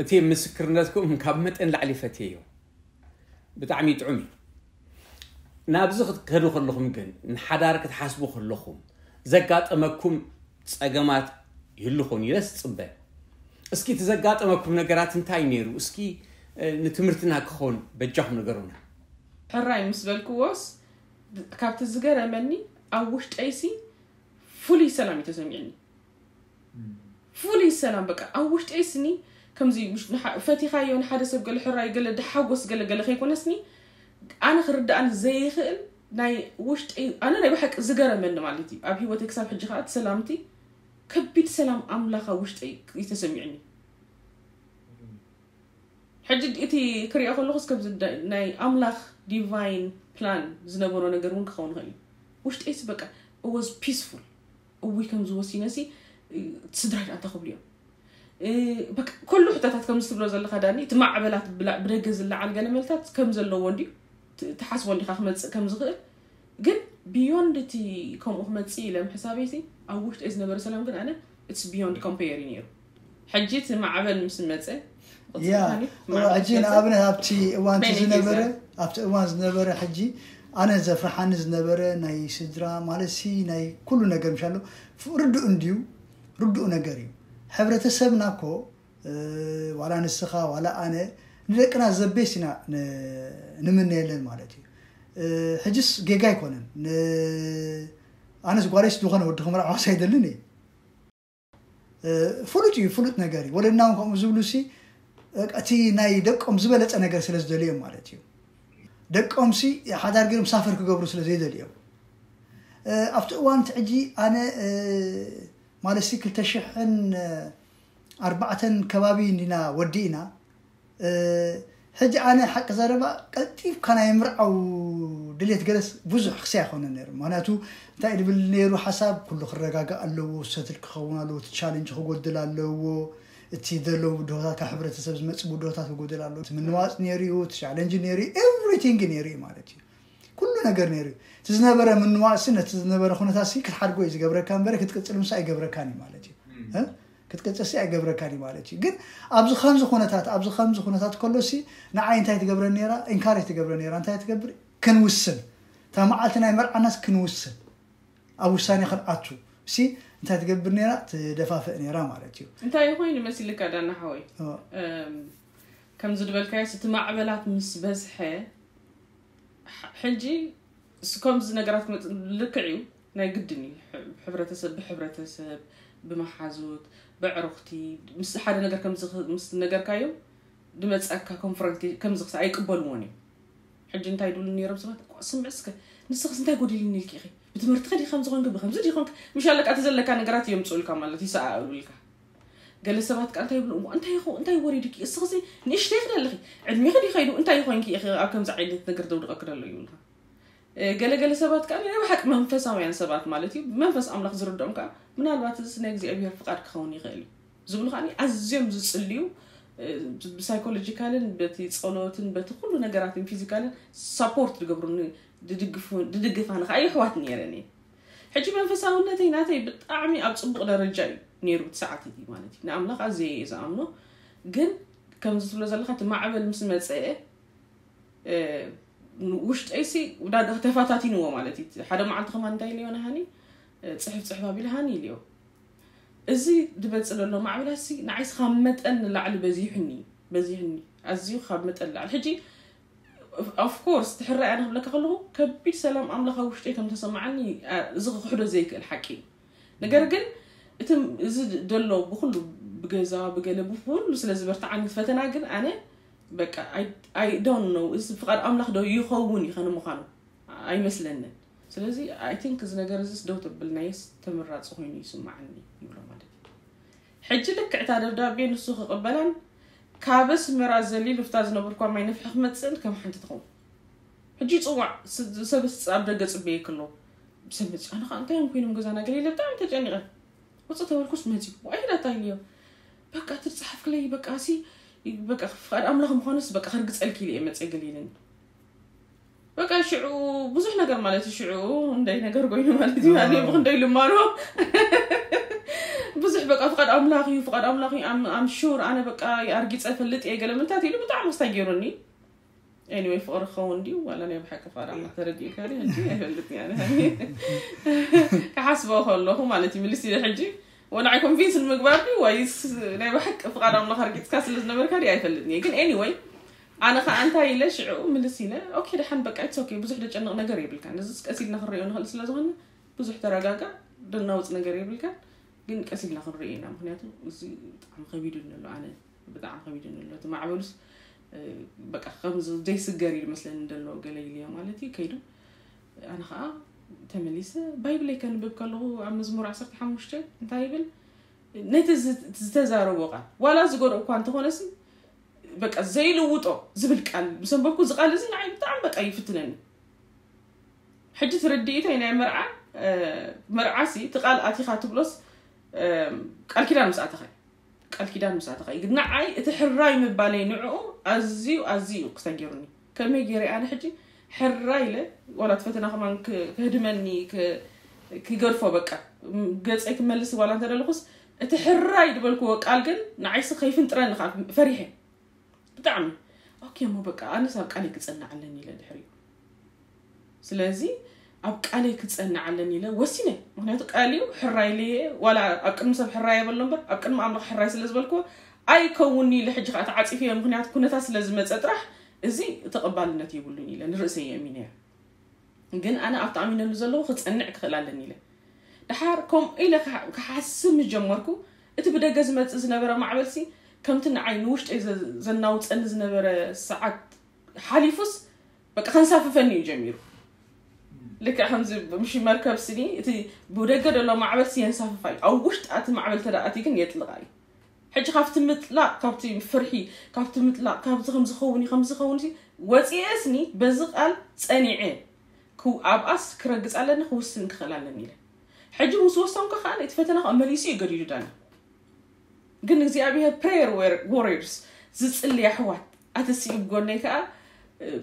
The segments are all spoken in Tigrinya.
እቲ ምስክርነትኩም ካብ መጠን ላዕሊ ፈትየዮ። ብጣዕሚ ጥዑም እዩ። ናብዚ ክትከዱ ከለኹም ግን፣ ንሓዳር ክትሓስቡ ከለኹም ዘጋጠመኩም ጸገማት ይህሉ ኾን ኢለስ ጽበ። እስኪ እቲ ዘጋጠመኩም ነገራት እንታይ ነይሩ? እስኪ ንትምህርትና ክኾን በጃኹም ንገሩና። ሕራይ ምስ በልክዎስ ካብቲ ዝገረመኒ ኣብ ውሽጠይሲ ፍሉይ ሰላም እዩ ተሰሚዕኒ። ፍሉይ ሰላም በቃ ኣብ ውሽጠይ ስኒ ከምዚ ፈቲኻዮ ንሓደ ሰብ ገለ ሕራይ ገለ ድሓጎስ ገለ ገለ ከይኮነስኒ ኣነ ክርዳእኒ ዘይኽእል ናይ ውሽጠይ ኣነ ናይ ብሓቂ ዝገረመኒ ማለት እዩ። ኣብ ህይወተይ ክሳብ ሕጂ ከዓ እቲ ሰላምቲ ከቢድ ሰላም ኣምላኽ ኣብ ውሽጠይ እዩ ተሰሚዕኒ። ሕጂ እቲ ክሪኦ ከለኹስ ከምዚ ናይ ኣምላኽ ዲቫይን ፕላን ዝነበሮ ነገር እውን ክኸውን ይኽእል እዩ። ውሽጠይስ በቃ was peaceful። እውይ ከምዚ ወሲነሲ ስድራይ ደኣ እንታይ ክብሉ እዮም? በቃ ኩሉ ሕቶታት ከምዚ ትብሎ ዘለኻ ዳኒ እቲ ማዕበላት ብደገ ዝለዓል ገለ መልታት ከም ዘለዎ እንድዩ ትሓስቦ እንዲኻ ክመፅእ ከም ዝኽእል ግን beyond እቲ ከምኡ ክመፅእ ኢለ ምሕሳበይሲ ኣብ ውሽጠይ ዝነበረ ሰላም ግን ኣነ it's beyond compare እዩ ነይሩ። ሕጂ እቲ ማዕበል ምስ መፀ ሕጂ ንኣብነት ኣብቲ እዋን ዝነበረ ኣብቲ እዋን ዝነበረ ሕጂ ኣነ ዘፍርሓኒ ዝነበረ ናይ ስድራ ማለት ሲ ናይ ኩሉ ነገር ምሻሎ ርዱእ እንድዩ ርዱእ ነገር እዩ። ሕብረተሰብና እኮ ዋላ ንስኻ ዋላ ኣነ ንደቅና ዘቤስ ኢና ንምነየለን ማለት እዩ። ሕጅስ ጌጋ ኣይኮነን። ኣነስ ጓለይስ ዝኾነ ወዲ ክምርዓዋስ ኣይደልን እየ። ፍሉጥ እዩ፣ ፍሉጥ ነገር እዩ። ወለድና እውን ከምኡ ዝብሉ ሲ እቲ ናይ ደቆም ዝበለፀ ነገር ስለ ዝደልዮም ማለት እዩ። ደቆም ሲ ሓዳር ገይሮም ሳፈር ክገብሩ ስለ ዘይደልዮም ኣብቲ እዋን እቲ ሕጂ ኣነ ማለት ሲ ክልተ ሽሕን ኣርባዕተን ከባቢ እንዲና ወዲእና ሕጂ ኣነ ሓቂ ዘረባ ቀልጢፍካ ናይ ምርዓው ድሌት ገለስ ብዙሕ ክሲ ኣይኮነ ነይሩ። ምክንያቱ እንታይ ድብል ነይሩ ሓሳብ ኩሉ ክረጋጋእ ኣለዎ፣ ሰትል ክኸውን ኣለዎ፣ እቲ ቻለንጅ ክጎድል ኣለዎ፣ እቲ ዘለዉ ብድሆታት ካብ ሕብረተሰብ ዝመፅ ብድሆታት ክጎድል ኣለዎ፣ እቲ ምንዋፅ ነይሩ እዩ፣ እቲ ቻለንጅ ነይሩ እዩ፣ ኤቭሪቲንግ ነይሩ እዩ ማለት እዩ። ኩሉ ነገር ነይሩ እዩ። እቲ ዝነበረ ምንዋፅሲ ነቲ ዝነበረ ኩነታትሲ ክትሓድጎ እዩ ዝገብረካ እምበረ ክትቅፅል ምሳ ኣይገብረካን እዩ ማለት እዩ። ክትቅፅልሲ ኣይገብረካን እዩ ማለት እዩ። ግን ኣብዚ ከምዚ ኩነታት ኣብዚ ከምዚ ኩነታት ከሎሲ ንዓይ እንታይ ትገብረ ነራ ኢንካሬጅ ትገብረ ነራ እንታይ ትገብር ክንውስን እታ መዓልቲ ናይ መርዓናስ ክንውስን ኣብ ውሳኔ ክንኣቱ ሲ እንታይ ትገብር ነራ ትደፋፍእ ነራ ማለት እዩ። እንታይ ኮይኑ መሲልካ ዳና ሓወይ ከምዚ ዝበልካዮስ እቲ ማዕበላት ምስ በዝሐ ሕጂ ከምዚ ነገራት ክመፅእ ልክዕ እዩ ናይ ግድን እዩ። ሕብረተሰብ ብሕብረተሰብ ብመሓዙት ብዕሩኽቲ ምስ ሓደ ነገር ከም ምስ ነገርካዮም ድመፀካ ኮንፍረንት ከምዚ ክሳ ኣይቅበልዎን እዮም። ሕጂ እንታይ ድብሉ ነይሮም ሰባት ስምዕ እስከ ንስኽስ እንታይ ጎዲልኒ ኢልኪ ኢኺ ብትምህርቲ ከዲ ከም ዝኾንክ ብከምዚ ዲኾንክ ምሽ ኣለካ እቲ ዘለካ ነገራት የምፅኡልካ ማለት ይሰኣእሉልካ። ገለ ሰባት ከ እንታይ ይብሉ እሞ እንታይ ይኹ እንታይ ወሪድኪ እስኽሲ ንእሽተይ ክደ ኣለኺ ዕድሜኺ ዲኸይዱ እንታይ ይኾንኪ ኢኺ ኣብ ከምዚ ዓይነት ነገር ዘውድቐኪ ደሎ ይብሉኻ። ገለ ገለ ሰባት ከኣ ናይ ብሓቂ መንፈሳውያን ሰባት ማለት እዩ ብመንፈስ ኣምላኽ ዝርድኦም ከኣ ምናልባት እዚ ናይ እግዚኣብሔር ፍቓድ ክኸውን ይኽእል እዩ ዝብሉ ከኣ ኣዝዮም ዝጽልዩ ብሳይኮሎጂካልን በቲ ጸሎትን በቲ ኩሉ ነገራትን ፊዚካልን ሳፖርት ዝገብሩኒ ድድግፋኒ ከኣ የሕዋት ነይረን እየ። ሕጂ መንፈሳውነተይ ናተይ ብጣዕሚ ኣብ ጽቡቕ ደረጃ እዩ ነይሩ እቲ ሰዓት እቲ ማለት እዩ ንኣምላኽ ኣዝየ እየ ዝኣምኖ። ግን ከምዚ ትብሎ ዘለኻ እቲ ማዕበል ምስ መጸ ውሽጠይሲ ውዳድ ተፈታቲንዎ ማለት እዩ። ሓደ መዓልቲ ከማን እንታይ ኢልዮ ንሃኒ ጽሕፍ ጽሕፍ ኣቢለ ሃኒ ኢልዮ እዚ ድበጽ ዘሎ ማዕበላሲ ንዓይስ ካብ መጠን ንላዕሊ በዚሑኒ በዚሑኒ ኣዝዩ ካብ መጠን ንላዕሊ ሕጂ ኦፍኮርስ ትሕራይ ኣነ ክብለካ ከለኹ ከቢድ ሰላም ኣምላኽ ኣብ ውሽጠይ ከም ተሰማዓኒ እዚ ክሕዶ ዘይክእል ሓቂ እዩ። ነገር ግን እቲ እዚ ደሎ ብኩሉ ብገዛ ብገለ ብኩሉ ስለ ዝበርትዓኒ ፈተና ግን ኣነ በቃ I don't know እዚ ፍቃድ ኣምላኽ ዶ ይኸውን እዩ ከነ ምዃኑ ኣይመስለንን። ስለዚ I think እዚ ነገር እዚስ ደው ተብልናየስ ተመራፂ ኮይኑ ይስማዓኒ ይብሎ ማለት እዩ። ሕጂ ልክዕታ ደብዳቤ ንሱ ክቕበላን ካብ ኣስመራ ዘሊሉ ፍታ ዝነበርኳ ማይ ነፍሒ ክመፅእን ከም ሓንቲ ትኸውን ሕጂ ይፅዋዕ ሰብ ኣብ ደገ ፅበየ ክሎ ብሰብ መፅእ ኣነ ከዓ እንታይ እዮም ኮይኖም ገዛና ገለ ኢለ ብጣዕሚ ተጨኒቐ ውፅእ ተበልኩስ መፅኡ ዋይ ዳታ ኢልዮ በቃ ትፅሓፍክለይ በቃ ሲ በቃ ፍቃድ ኣምላኽ ምዃኑስ በቃ ከርግፀልኪ ኢለ እየ መፀ ገለ ኢለኒ በቃ ሽዑ ብዙሕ ነገር ማለት እዩ ሽዑ እንዳይ ነገር ኮይኑ ማለት እዩ ኣነ ብክንደይ ልማኖ ብዙሕ በቃ ፍቓድ ኣምላኽ እዩ፣ ፍቓድ ኣምላኽ እዩ፣ ኣም ኣም ሹር ኣነ በቃ ኣርጊጸ ፈልጥ እየ ገለ ምንታት ኢሉ ብጣዕሚ ኣስታጊሩኒ። Anyway ፍቕሪ ክኸውን ድዩ ዋላ ናይ ብሓቂ ፍቓድ ኣምላኽ ተረዲእካ ድዩ ሕጂ ኣይፈልጥን እየ ኣነ። ክሓስቦ ከለኹ ማለት እዩ ምልስ ኢለ ሕጂ ወንዓይ ኮንቪንስ ንምግባር ድዩ ወይስ ናይ ብሓቂ ፍቓድ ኣምላኽ ኣርጊጽካ ስለ ዝነበርካ ድዩ ኣይፈልጥን እየ። ግን anyway ኣነ ኸዓ እንታይ ኢለ ሽዑ ምልስ ኢለ okay ደሓን በቃ it's okay ብዙሕ ደጨንቕ ነገር የብልካን። እዚ ቀስ ኢልና ክንሪኦ ንኽእል ስለ ዝኾነ ብዙሕ ተረጋጋእ ደናውጽ ነገር የብልካን። ግን ቀስ ኢልና ክንሪኦ ኢና ምኽንያቱ እዚ ብጣዕሚ ከቢዱ ኣሎ ኣነ ብጣዕሚ ከቢዱ ኣሎ እቲ ማዕበሉስ በቃ ከም ዘይስገር እዩ መስለኒ ዘሎ ገለ ኢልዮ ማለት እዩ ከይዱ። ኣነ ከዓ ተመሊሰ ባይብለይ ከንብብ ከለኹ ኣብ መዝሙር ዓሰርተ ሓሙሽተ እንታይ ይብል ነቲ ዝተዛረቦ ቃል ዋላ ዝጎድኦ እኳ እንተኾነሲ በቃ ዘይልውጦ ዝብል ቃል ምስ ኣንበብኩ እዚ ቃል እዚ ንዓይ ብጣዕሚ በቃ ይፍትነኒ። ሕጂ ትርድኢተይ ናይ መርዓ መርዓሲ እቲ ቃል ኣቲኻ ትብሎስ ቃል ኪዳን ምስ ኣተኻ ቃል ኪዳን ምስ ኣተኻ ግን ንዓይ እቲ ሕራይ ምባለይ ንዕኡ ኣዝዩ ኣዝዩ ክሰጊሩኒ። ከመይ ገይረ ኣነ ሕጂ ሕራይ ኢለ ዋላ እቲ ፈተና ከማን ክህድመኒ ክገድፎ በቃ ገፀይ ክመልስ ዋላ እንተደለኹስ እቲ ሕራይ ዝበልክዎ ቃል ግን ንዓይሲ ከይፍንጥረኒ ከዓ ፈሪሐ ብጣዕሚ okay እሞ በቃ ኣነስ ኣብ ቃለይ ክፀንዕ ኣለኒ ኢለ ድሕሪኡ ስለዚ ኣብ ቃለይ ክፀንዕ ኣለኒ ኢለ ወሲነ። ምክንያቱ ቃል እዩ ሕራይ ኢለየ ዋላ ኣብ ቅድሚ ሰብ ሕራይ የበሎ እምበር ኣብ ቅድሚ ኣምላኽ ሕራይ ስለ ዝበልክዎ ኣይከውንኒ ኢለ ሕጂ ከዓ ተዓፂፈዮ ምክንያቱ ኩነታት ስለ ዝመፀ ጥራሕ እዚ ተቐባልነት የብሉን ኢለ ንርእሰይ የእሚነዮ። ግን ኣነ ኣብቲ ኣሚነሉ ዘለኹ ክፀንዕ ክኽእል ኣለኒ ኢለ ድሓር ከምኡ ኢለ ክሓስብ ምስ ጀመርኩ እቲ ብደገ ዝመፅእ ዝነበረ ማዕበልሲ ከምቲ ንዓይ ንውሽጠይ ዘናውፀኒ ዝነበረ ሰዓት ሓሊፉስ በቃ ከንሳፍፈኒ እዩ ጀሚሩ። ልክዕ ከምዚ ምሽ መርከብ ስኒ እቲ ብደገ ዘሎ ማዕበልሲ የንሳፍፋ እዩ ኣብ ውሽጢ ኣቲ ማዕበል ተደኣቲ ግን የጥልቓ እዩ። ሕጂ ካብቲ ምጥላቕ ካብቲ ፍርሒ ካብቲ ምጥላቕ ካብዚ ከምዝኸውን እዩ ከምዝኸውን ወፂኤስኒ በዚ ቃል ፀኒዐ ኣብኣስ ክረግፅ ኣለኒ ክውስን ክኽእል ኣለኒ ኢለ ሕጂ ምስ ወሰንኩ ከዓ እቲ ፈተና ከዓ መሊሱ እዩ ገዲዱ ዳኒ። ግን እግዚኣብሔር prayer warriors ዝፅሊ ኣሕዋት ኣተሲኡ ጎነይ ከዓ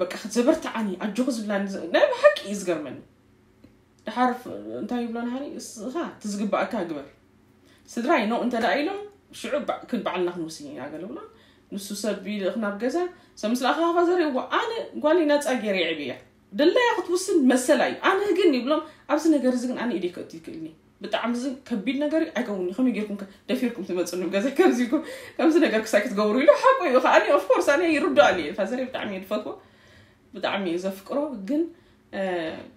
በቃ ዘበርትዓኒ ኣጆኹ ዝብላኒ ናይ ብሓቂ እዩ ዝገርመኒ። ድሓር እንታይ ይብሎ ንሃኒ እስኻ እቲ ዝግባኣካ ግበር። ስድራይ ኖ እንተ ደኣ ኢሎም ሽዑ ክንባዕልና ክንውስን ኢና ገለ ብሎ። ንሱ ሰብ ይልእኽ ናብ ገዛ ሰብ ምስ ለኣኸ ካፋ ዘርእዎ ኣነ ጓለይ ናፃ ገይረ የዕብያ ደላያ ክትውስን መሰላ እዩ። ኣነ ግን ይብሎም ኣብዚ ነገር እዚ ግን ኣነ ኢደይ ከእቱ ይክእልኒ ብጣዕሚ እዚ ከቢድ ነገር እዩ ኣይከውን እዩ ከመይ ጌርኩም ከ ደፊርኩም ትመፅሉ ገዛ ከምዚ ኢልኩም ከምዚ ነገር ክሳይ ክትገብሩ ኢሉ ሓቁ እዩ ከኣኒ of course ኣነ ይርድኣሉ እየ ፋዘረይ ብጣዕሚ እየ ዝፈትዎ ብጣዕሚ እየ ዘፍቅሮ ግን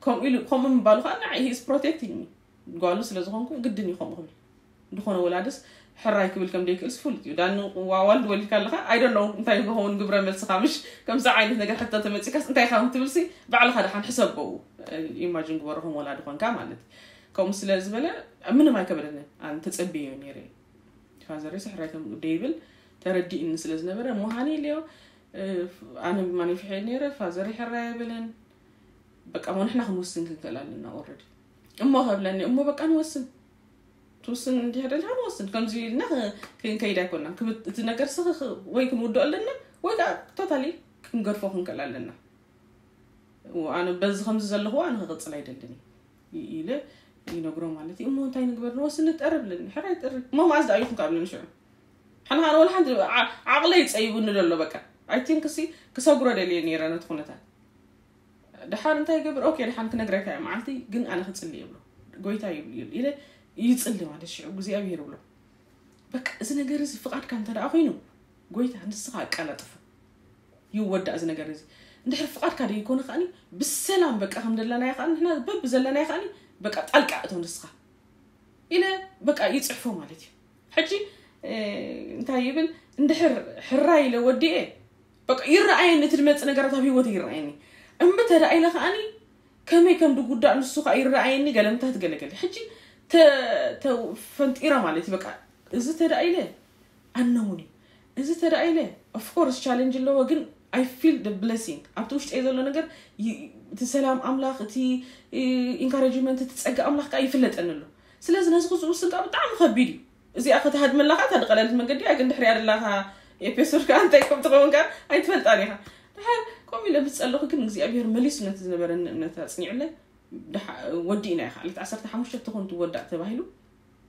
ከምኡ ኢሉ ከምኡ ምባሉ ከዓ ንዓይ he is protecting me ጓሉ ስለ ዝኾንኩ ግድን እዩ ከምኡ ክብል ዝኾነ ወላድስ ሕራይ ክብል ከም ደይክእልስ ፍሉጥ እዩ ዳኒ ዋዋልድ ወሊድካ ኣለኻ I don't know እንታይ ክኸውን ግብረ መልስኻ ምሽ ከምዚ ዓይነት ነገር ሕቶ ተመፂካስ እንታይ ኢኻ ትብልሲ ባዕልኻ ደሓን ሕሰበው imagine ግበሮ ከም ወላዲ ኮንካ ማለት ከምኡ ስለ ዝበለ ምንም ኣይከበደንን ኣነ ተፀብየዮ ነይረ ፋዘረይስ ሕራይ ከም ደይብል ተረዲእኒ ስለ ዝነበረ እሞ ሃኒ ኢለዮ ኣነ ብማን ይፍሕል ነይረ ፋዘረይ ሕራይ ኣይብልን በቃ እሞ ንሕና ክንውስን ክንክእል ኣለና already እሞ ከብለኒ እሞ በቃ ንወስን ትውስን እንዲህ ደልካ ንወስን ከምዚ ኢልና ክንከይድ ኣይኮናን እቲ ነገር ስኽ ወይ ክንውድኦ ኣለና ወይ ከዓ totally ክንገድፎ ክንክእል ኣለና ኣነ በዚ ከምዚ ዘለኹ ኣነ ክቕፅል ኣይደልን ኢለ ይነግሮ ማለት እዩ እሞ እንታይ ንግበር ንወስን ንጠርብ ለኒ ሕራይ ጠርብ እሞ መኣዝ ደኣ ይኹን ካብለኒ ሽዑ ሓንኻ ወላ ሓንቲ ዓቕለይ ፀይቡኒ ዘሎ በቃ I think ሲ ክሰግሮ ደልየ ነይረ ነቲ ኩነታት ድሓን እንታይ ይገብር okay ድሓን ክነግረካ እየ መዓልቲ ግን ኣነ ክፅሊ ይብሎ ጎይታ ይብሉ ኢለ ይፅሊ ማለት ሽዑ እግዚኣብሄር ይብሎ በቃ እዚ ነገር እዚ ፍቓድካ እንተ ደኣ ኮይኑ ጎይታ ንስኻ ኣቀላጥፎ ይወዳእ እዚ ነገር እዚ እንድሕር ፍቓድካ ደይኮነ ከኣኒ ብሰላም በቃ ከም ደለናዮ ከኣ ንሕና በብ ዘለናዮ ከኣኒ በቃ ጣልቃ እቶ ንስኻ ኢለ በቃ ይፅሕፎ ማለት እዩ ሕጂ እንታይ ይብል እንድሕር ሕራይ ኢለ ወዲኤ በቃ ይረኣየኒ እቲ ዝመፅእ ነገራት ኣብ ህይወት ይረኣየኒ እምቢ ተዳ ኢለ ከኣኒ ከመይ ከም ድጉዳእ ንሱ ከዓ ይረኣየኒ ገለምታት ገለገለ ሕጂ ፈንጢረ ማለት እዩ በቃ እዚ ተዳ ኢለ ኣነሙኒ እዚ ተዳ ኢለ of course challenge ኣለዎ ግን I feel the blessing ኣብቲ ውሽጠይ ዘሎ ነገር እቲ ሰላም ኣምላኽ እቲ encouragement እቲ ፀጋ ኣምላኽ ከዓ ይፍለጠኒ ኣሎ ስለዚ ነዚ ክዝውስን ከዓ ብጣዕሚ ከቢድ እዩ እዚኣ ከተሃድመላ ከዓ እታ ድቐለልት መንገዲ እያ ግን ድሕሪኣ ደላካ ኤፒሶድ ከዓ እንታይ ከም ትኸውን ከዓ ኣይትፈልጣን ኢኻ ድሓር ከምኡ ኢለ ምስ ፀለኹ ግን እግዚኣብሔር መሊሱ ነቲ ዝነበረኒ እምነት ኣፅኒዑለ ወዲእና ኢኻ ዕለት ዓሰርተ ሓሙሽተ ትኹን ትወዳእ ተባሂሉ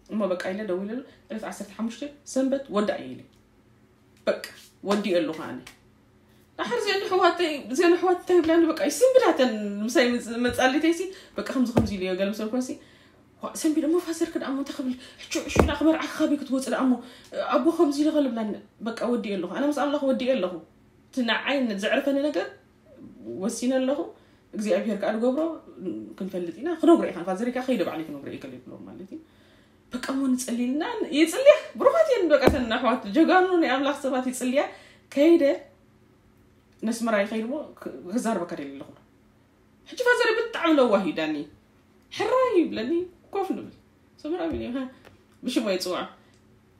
እሞ በቃ ኢለ ደዊለሉ። ዕለት ዓሰርተ ሓሙሽተ ሰንበት ወዳእ እየ ኢለ። በቃ ወዲእ ኣለኹ ኣነ። ድሓር እዚአን ኣሕዋተይ፣ እዚአን ኣሕዋት እንታይ ይብላኒ፣ በቃ ይስንብዳተን ምሳይ መጽ-፣ መጻሊተይሲ፣ በቃ ከምዚ ከምዚ ኢለዮ፣ ገለ ምስ በልኩሲ፣ ዋ፣ ሰንቢደ እሞ ፋዘር ክድኣሞ እንታይ ክብል፣ ሕቹ፣ ሕሹ፣ ና ክመርዓካ ካበይ ክትወጽእ ደኣሞ፣ ኣቦ ከምዚ ኢለ ከልብላኒ፣ በቃ ወዲእ ኣለኹ። ኣነ ምስ ኣምላኽ ወዲእ ኣለኹ። እቲ ንዓይ ዘዕርፈኒ ነገር ወሲነ ኣለኹ። እግዚኣብሔር ከኣ ዝገብሮ ክንፈልጥ ኢና። ክነግሮ ኢኻ፣ ፋዘር ከኣ ከይደ ባዕለይ ክነግሮ እየ ከለ ይብሎም ማለት እዩ። በቃ እሞ ንጸልይልና፣ ይጽልያ። ብሩኻት እየን በቃ ተን ኣሕዋት ጀጋኑ ናይ ኣምላኽ ሰባት ይጽልያ። ከይደ ነስመራ ይኸይድ እሞ ክ-፣ ክዛረበካ ደልየ ኣለኹ። ሕጂ ፋዘር ብጣዕሚ ለዋህ እዩ ዳኒ። ሕራይ ይብለኒ፣ ኮፍ ንብል። ሰመራ ቢኒ፣ ሃ፣ ብሽሙ ኣይጽውዖ።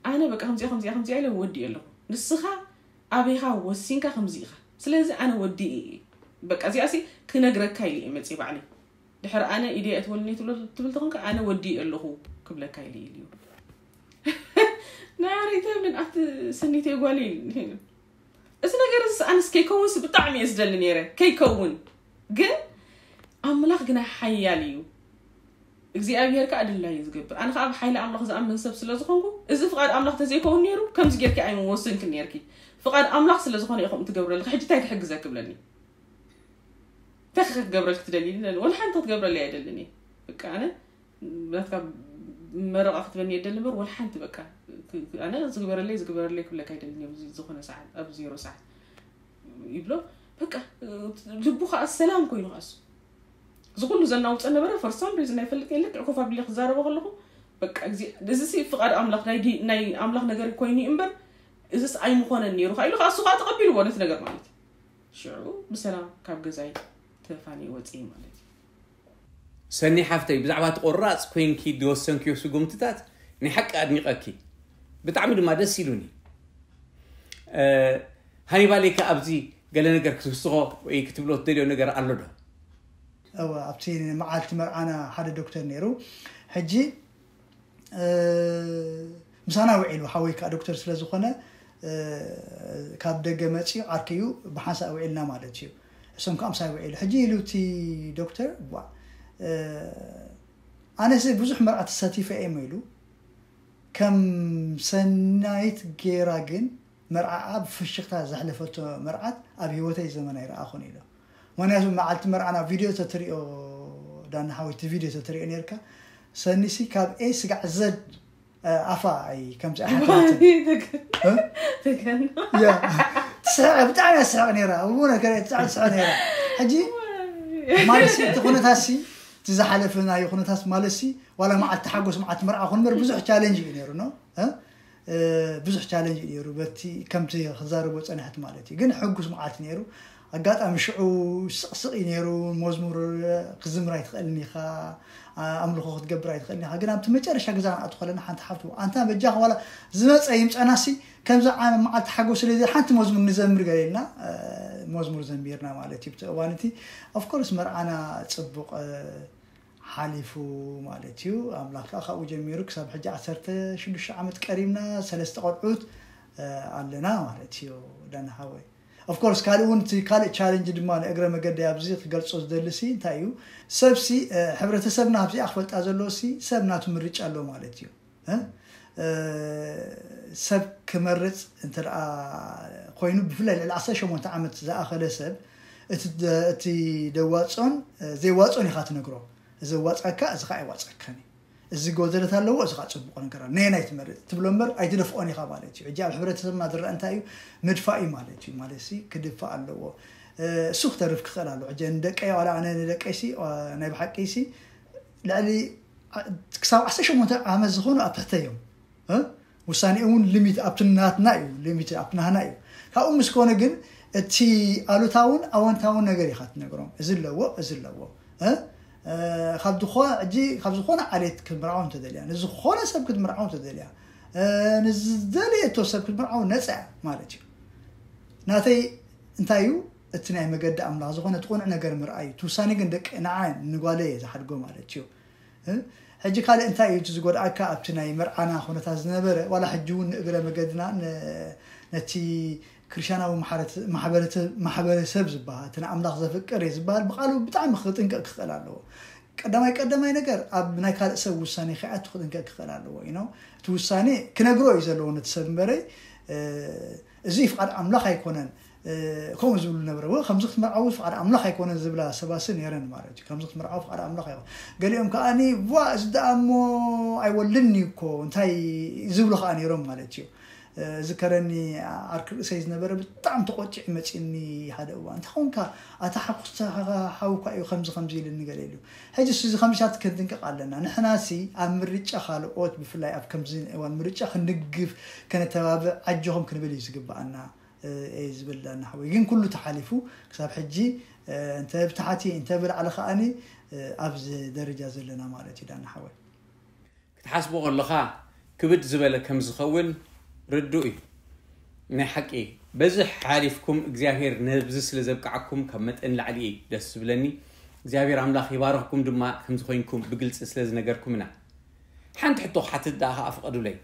ኣነ በቃ ከምዚኣ፣ ከምዚኣ፣ ከምዚኣ ኢለ ወዲእ ኣለኹ። ንስኻ ኣበይኻ ወሲንካ ከምዚ ኢኻ። ስለዚ ኣነ ወዲእ እየ። በቃ እዚኣሲ ክነግረካ ኢለ እየ መጽእ ባዕለይ። ድሕሪ ኣነ ኢደ የእትወልኒ ትብል፣ ትብል ተኾንካ ኣነ ወዲእ ኣለኹ ክብለካ ኢለ ኢልዩ። ናረይ ተብልን ኣቲ ሰኒተይ ጓል ኢል። እዚ ነገር እዚ ኣነስ ከይከውንስ ብጣዕሚ እየ ዝደሊ ነይረ። ከይከውን ግን ኣምላኽ ግና ሓያል እዩ። እግዚኣብሔር ከኣ ድላዩ ዝገብር። ኣነ ከኣ ብሓይሊ ኣምላኽ ዝኣምን ሰብ ስለ ዝኾንኩ፣ እዚ ፍቓድ ኣምላኽ ተዘይከውን ነይሩ፣ ከምዚ ጌርኪ ኣይምወሰንክን ነይርኪ። ፍቓድ ኣምላኽ ስለ ዝኾነ ኢኹም ትገብረልኪ። ሕጂ እንታይ ክሕግዘኪ ብለኒ? እንታይ ክገብረልኪ ትደሊ? ወላ ሓንቲ ክትገብረለይ ኣይደልን እየ። በቃ ኣነ ናትካ መረቓ ክትበኒ የደሊ እምበር፣ ወላ ሓንቲ በቃ ክ-፣ ክ-፣ ኣነ ዝግበረለይ፣ ዝግበረለይ ክብለካ ኣይደልን እየ። ኣብዚ ዝኾነ ሰዓት፣ ኣብ ዜሮ ሰዓት ይብሎ። በቃ ልቡ ከኣ ሰላም ኮይኑ ከኣሱ። እዚ ኩሉ ዘናውጸ ነበረ፣ for some reason ኣይፈልጥን፣ ልክዕ ኮፍ ኣቢለ ክዛረቦ ከለኹ፣ በቃ፣ እዚ፣ እዚ ሲ ፍቓድ ኣምላኽ፣ ናይ ዲ-፣ ናይ ኣምላኽ ነገር ኮይኑ እዩ እምበር፣ እዚስ ኣይምኾነን ነይሩ ከኣ ኢሉ ከኣ እሱ ከኣ ተቐቢልዎ ነቲ ነገር ማለት እዩ። ሽዑ ብሰላም ካብ ገዛይ ተፋንየ ወጽየ ማለት እዩ። ሰኒ ሓፍተይ፣ ብዛዕባ እቲ ቆራጽ ኮይንኪ ዝወሰንክዮ ስጉምትታት ናይ ሓቂ ኣድኒቐኪ። ብጣዕሚ ድማ ደስ ኢሉኒ። እ፣ ሃኒባለይ ከ ኣብዚ ገለ ነገር ክትውስኾ ወይ ክትብሎ ትደልዮ ነገር ኣሎ ዶ? እወ፣ ኣብቲ መዓልቲ መርዓና ሓደ ዶክተር ነይሩ። ሕጂ፣ እ፣ ምሳና ውዒሉ፣ ሓወይ ከኣ ዶክተር ስለ ዝኾነ፣ እ፣ ካብ ደገ መጺኡ ዓርከዩ ብሓንሳእ ውዒልና ማለት እዩ። እሶም ከኣ ምሳይ ውዒሉ። ሕጂ ኢሉ እቲ ዶክተር፣ ዋ፣ እ፣ ኣነስ ብዙሕ መርዓ ተሳቲፈ እየ ኢሉ፣ ከም ሰናይት ጌራ ግን መርዓኣ ብፍሽኽታ ዘሕለፈቶ መርዓት ኣብ ህይወተይ ዘመን ኣይረኣኹን ኢሉ። ምኽንያቱ መዓልቲ መርዓና ቪድዮ ተትሪኦ፣ ዳና ሓወይ፣ እቲ ቪድዮ ተትሪኦ ነርካ፣ ሰኒሲ ካብ ኤ ስጋዕ ዘድ፣ እ፣ ኣፋ ኣይ ከምዚ ኣይሓትናትን። እ? ተገና። ያ። ትስሕቕ፣ ብጣዕሚ እያ ትስሕቕ ነይራ። እውነት፣ ከ-፣ ብጣዕሚ ትስሕቕ ነይራ። ሕጂ፣ ማለት ሲ፣ እቲ ኩነታት ሲ፣ እቲ ዝሓለፈ ናይ ኩነታት ማለት ሲ፣ ዋላ መዓልቲ ሓጎስ፣ መዓልቲ መርዓ ኹን እምበር፣ ብዙሕ ቻለንጅ እዩ ነይሩ፣ ኖ? እ? እ፣ ብዙሕ ቻለንጅ እዩ ነይሩ። በቲ ከምቲ ክዛረቦ ጸኒሐት ማለት እዩ። ግን ሕጉስ መዓልቲ ነይሩ። ኣጋጣሚ ሽዑ ስቕስቕ እዩ ነይሩ። መዝሙር ክዝምር ኣይትኽእልን ኢኻ፣ ኣ-፣ ኣምልኾ ክትገብር ኣይትኽእልን ኢኻ። ግን ኣብቲ መጨረሻ ገዛ ንኣቱ ከለና ሓንቲ ሓፍቱ፣ ኣንታ በጃኻ ዋላ ዝመጸ ይምጸናሲ፣ ከምዚ ዓመ መዓልቲ ሓጎስ ስለ ሓንቲ መዝሙር ንዘምር ገለ ኢልና፣ እ፣ መዝሙር ዘሚርና ማለት እዩ። ብቲ እዋን እቲ፣ ኦፍ ኮርስ፣ መርዓና ጽቡቕ፣ እ፣ ሓሊፉ ማለት እዩ። ኣምላኽ ከኣ ካብኡ ጀሚሩ ክሳብ ሕጂ ዓሰርተ ሽዱሽተ ዓመት ቀሪብና፣ ሰለስተ ቆልዑት፣ እ፣ ኣለና ማለት እዩ። ዳና ሓወይ። ኦፍ ኮርስ፣ ካልእ እውን እቲ ካልእ ቻለንጅ ድማ ንእግረ መገዲ ኣብዚ ክገልጾ ዝደሊ ሲ እንታይ እዩ? ሰብ ሲ፣ እ፣ ሕብረተሰብና ኣብዚኣ ክፈልጣ ዘለዎ ሲ፣ ሰብ ናቱ ምርጫ ኣለዎ ማለት እዩ። እ? እ፣ ሰብ ክመርጽ እንተ ደኣ ኮይኑ፣ ብፍላይ ልዕሊ ዓሰርተ ሸሞንተ ዓመት ዝኣኸለ ሰብ፣ እቲ ደ-፣ እቲ ደዋጾን፣ እ፣ ዘይዋጾን ኢኻ ትነግሮ። እዚ ዋጻካ፣ እዚ ኸኣ ኣይዋጻካን እዩ። እዚ ጎደለት ኣለዎ፣ እዚ ኸኣ ጽቡቕ ነገር ኣሎ። ነየናይ ትመርጽ ትብሎ እምበር ኣይትደፍኦን ኢኻ ማለት እዩ። ሕጂ ኣብ ሕብረተሰብና ዝረአ እንታይ እዩ? ምድፋእ እዩ ማለት እዩ። ማለት ሲ ክድፋእ ኣለዎ። እ፣ እሱ ክተርፍ ክኽእል ኣለዎ። ሕጂ ንደቀይ፣ ዋላ ኣነ ንደቀይ ሲ፣ ዋ-፣ ናይ ብሓቂ ሲ ልዕሊ ዓ-፣ ክሳብ ዓሰርተ ሸሞንተ ዓመት ዝኾኑ ኣብ ትሕተይ እዮም። እ? ውሳኔኡ እውን ሊሚት ኣብቲ ናትና እዩ፣ ሊሚት ኣብቲ ናህና እዩ። ካብኡ ምስ ኮነ ግን እቲ ኣሉታውን ኣወንታውን ነገር ኢኻ ትነግሮም። እዚ ኣለዎ፣ እዚ ኣለዎ። እ? እ፣ ካብ ዝኾነ፣ ሕጂ ካብ ዝኾነ ዓሌት ክትምርዓው እንተደልያ፣ ንዝኾነ ሰብ ክትምርዓው እንተደልያ፣ እ፣ ንዝደለየቶ ሰብ ክትምርዓው ነጻ እያ ማለት እዩ። ናተይ እንታይ እዩ? እቲ ናይ መገዲ ኣምላኽ ዝኾነ እቲ ቅኑዕ ነገር ምርኣይ እዩ። እቲ ውሳኔ ግን ደቂ ንዓይ ንጓለይ እየ ዝሓድጎ ማለት እዩ። እ? ሕጂ ካልእ እንታይ እዩ እቲ ዝጎድኣካ ኣብቲ ናይ መርዓና ኩነታት ዝነበረ? ዋላ ሕጂ እውን ንእግረ መገድና ን-፣ ነቲ ክርስትያናዊ ማሕረት-፣ ማሕበረተ-፣ ማሕበረሰብ ዝበሃል፣ እቲ ንኣምላኽ ዘፍቅር እየ ዝበሃል ብቃሉ ብጣዕሚ ክጥንቀቕ ክኽእል ኣለዎ። ቀዳማይ ቀዳማይ ነገር ኣብ ናይ ካልእ ሰብ ውሳኔ ከይኣቱ ክጥንቀቅ ክኽእል ኣለዎ። You know፣ እቲ ውሳኔ ክነግሮ እዩ ዘለዎ ነቲ ሰብ እምበረይ፣ እዚ ፍቓድ ኣምላኽ ኣይኮነን፣ ከምኡ ዝብሉ ነበረ። ከምዚ ክትምርዓዊ ፍቓድ ኣምላኽ ኣይኮነን ዝብላ ሰባሲ ነረን ማለት እዩ። ከምዚ ክትምርዓዊ ፍቓድ ኣምላኽ ኣይኮነ። ገሊኦም ከዓኒ ዋ እዚ ደኣ እሞ ኣይወልድን እዩ እኮ እንታይ ዝብሉ ከዓ ነይሮም ማለት እዩ። ዝከረኒ ዓርኪ ርእሰይ ዝነበረ ብጣዕሚ ተቆጭዕ መፂኒ። ሓደ እዋን እንታይ ኾንካ ኣታ ሓኩስታ ሓውካ እዩ ከምዚ ከምዚ ኢልኒ ገለ ኢሉ። ሕጂ እዚ ከምዚታት ክንጥንቀቕ ኣለና። ንሕናሲ ኣብ ምርጫ ካልኦት ብፍላይ ኣብ ከምዚ እዋን ምርጫ ክንድግፍ ከነተባብዕ ኣጆኹም ክንብል እዩ ዝግብኣና። እየ ዝብል ዳና ሓወይ ግን ኩሉ ተሓሊፉ ክሳብ ሕጂ እንተ ብታሕቲ እንተ ብላዕሊ ከዓኒ ኣብዚ ደረጃ ዘለና ማለት እዩ ዳና ሓወይ። ክትሓስቦ ከለኻ ክብድ ዝበለ ከም ዝኸውን ርዱእ እዩ። ናይ ሓቂ በዚ ሓሊፍኩም እግዚኣብሔር ነብዚ ስለ ዘብቅዓኩም ካብ መጠን ላዕሊ እዩ ደስ ዝብለኒ። እግዚኣብሔር ኣምላኽ ይባርኽኩም ድማ ከምዚ ኮይንኩም ብግልፂ ስለ ዝነገርኩምና። ሓንቲ ሕቶ ክሓትት ደኣ ከዓ ፍቐዱለይ።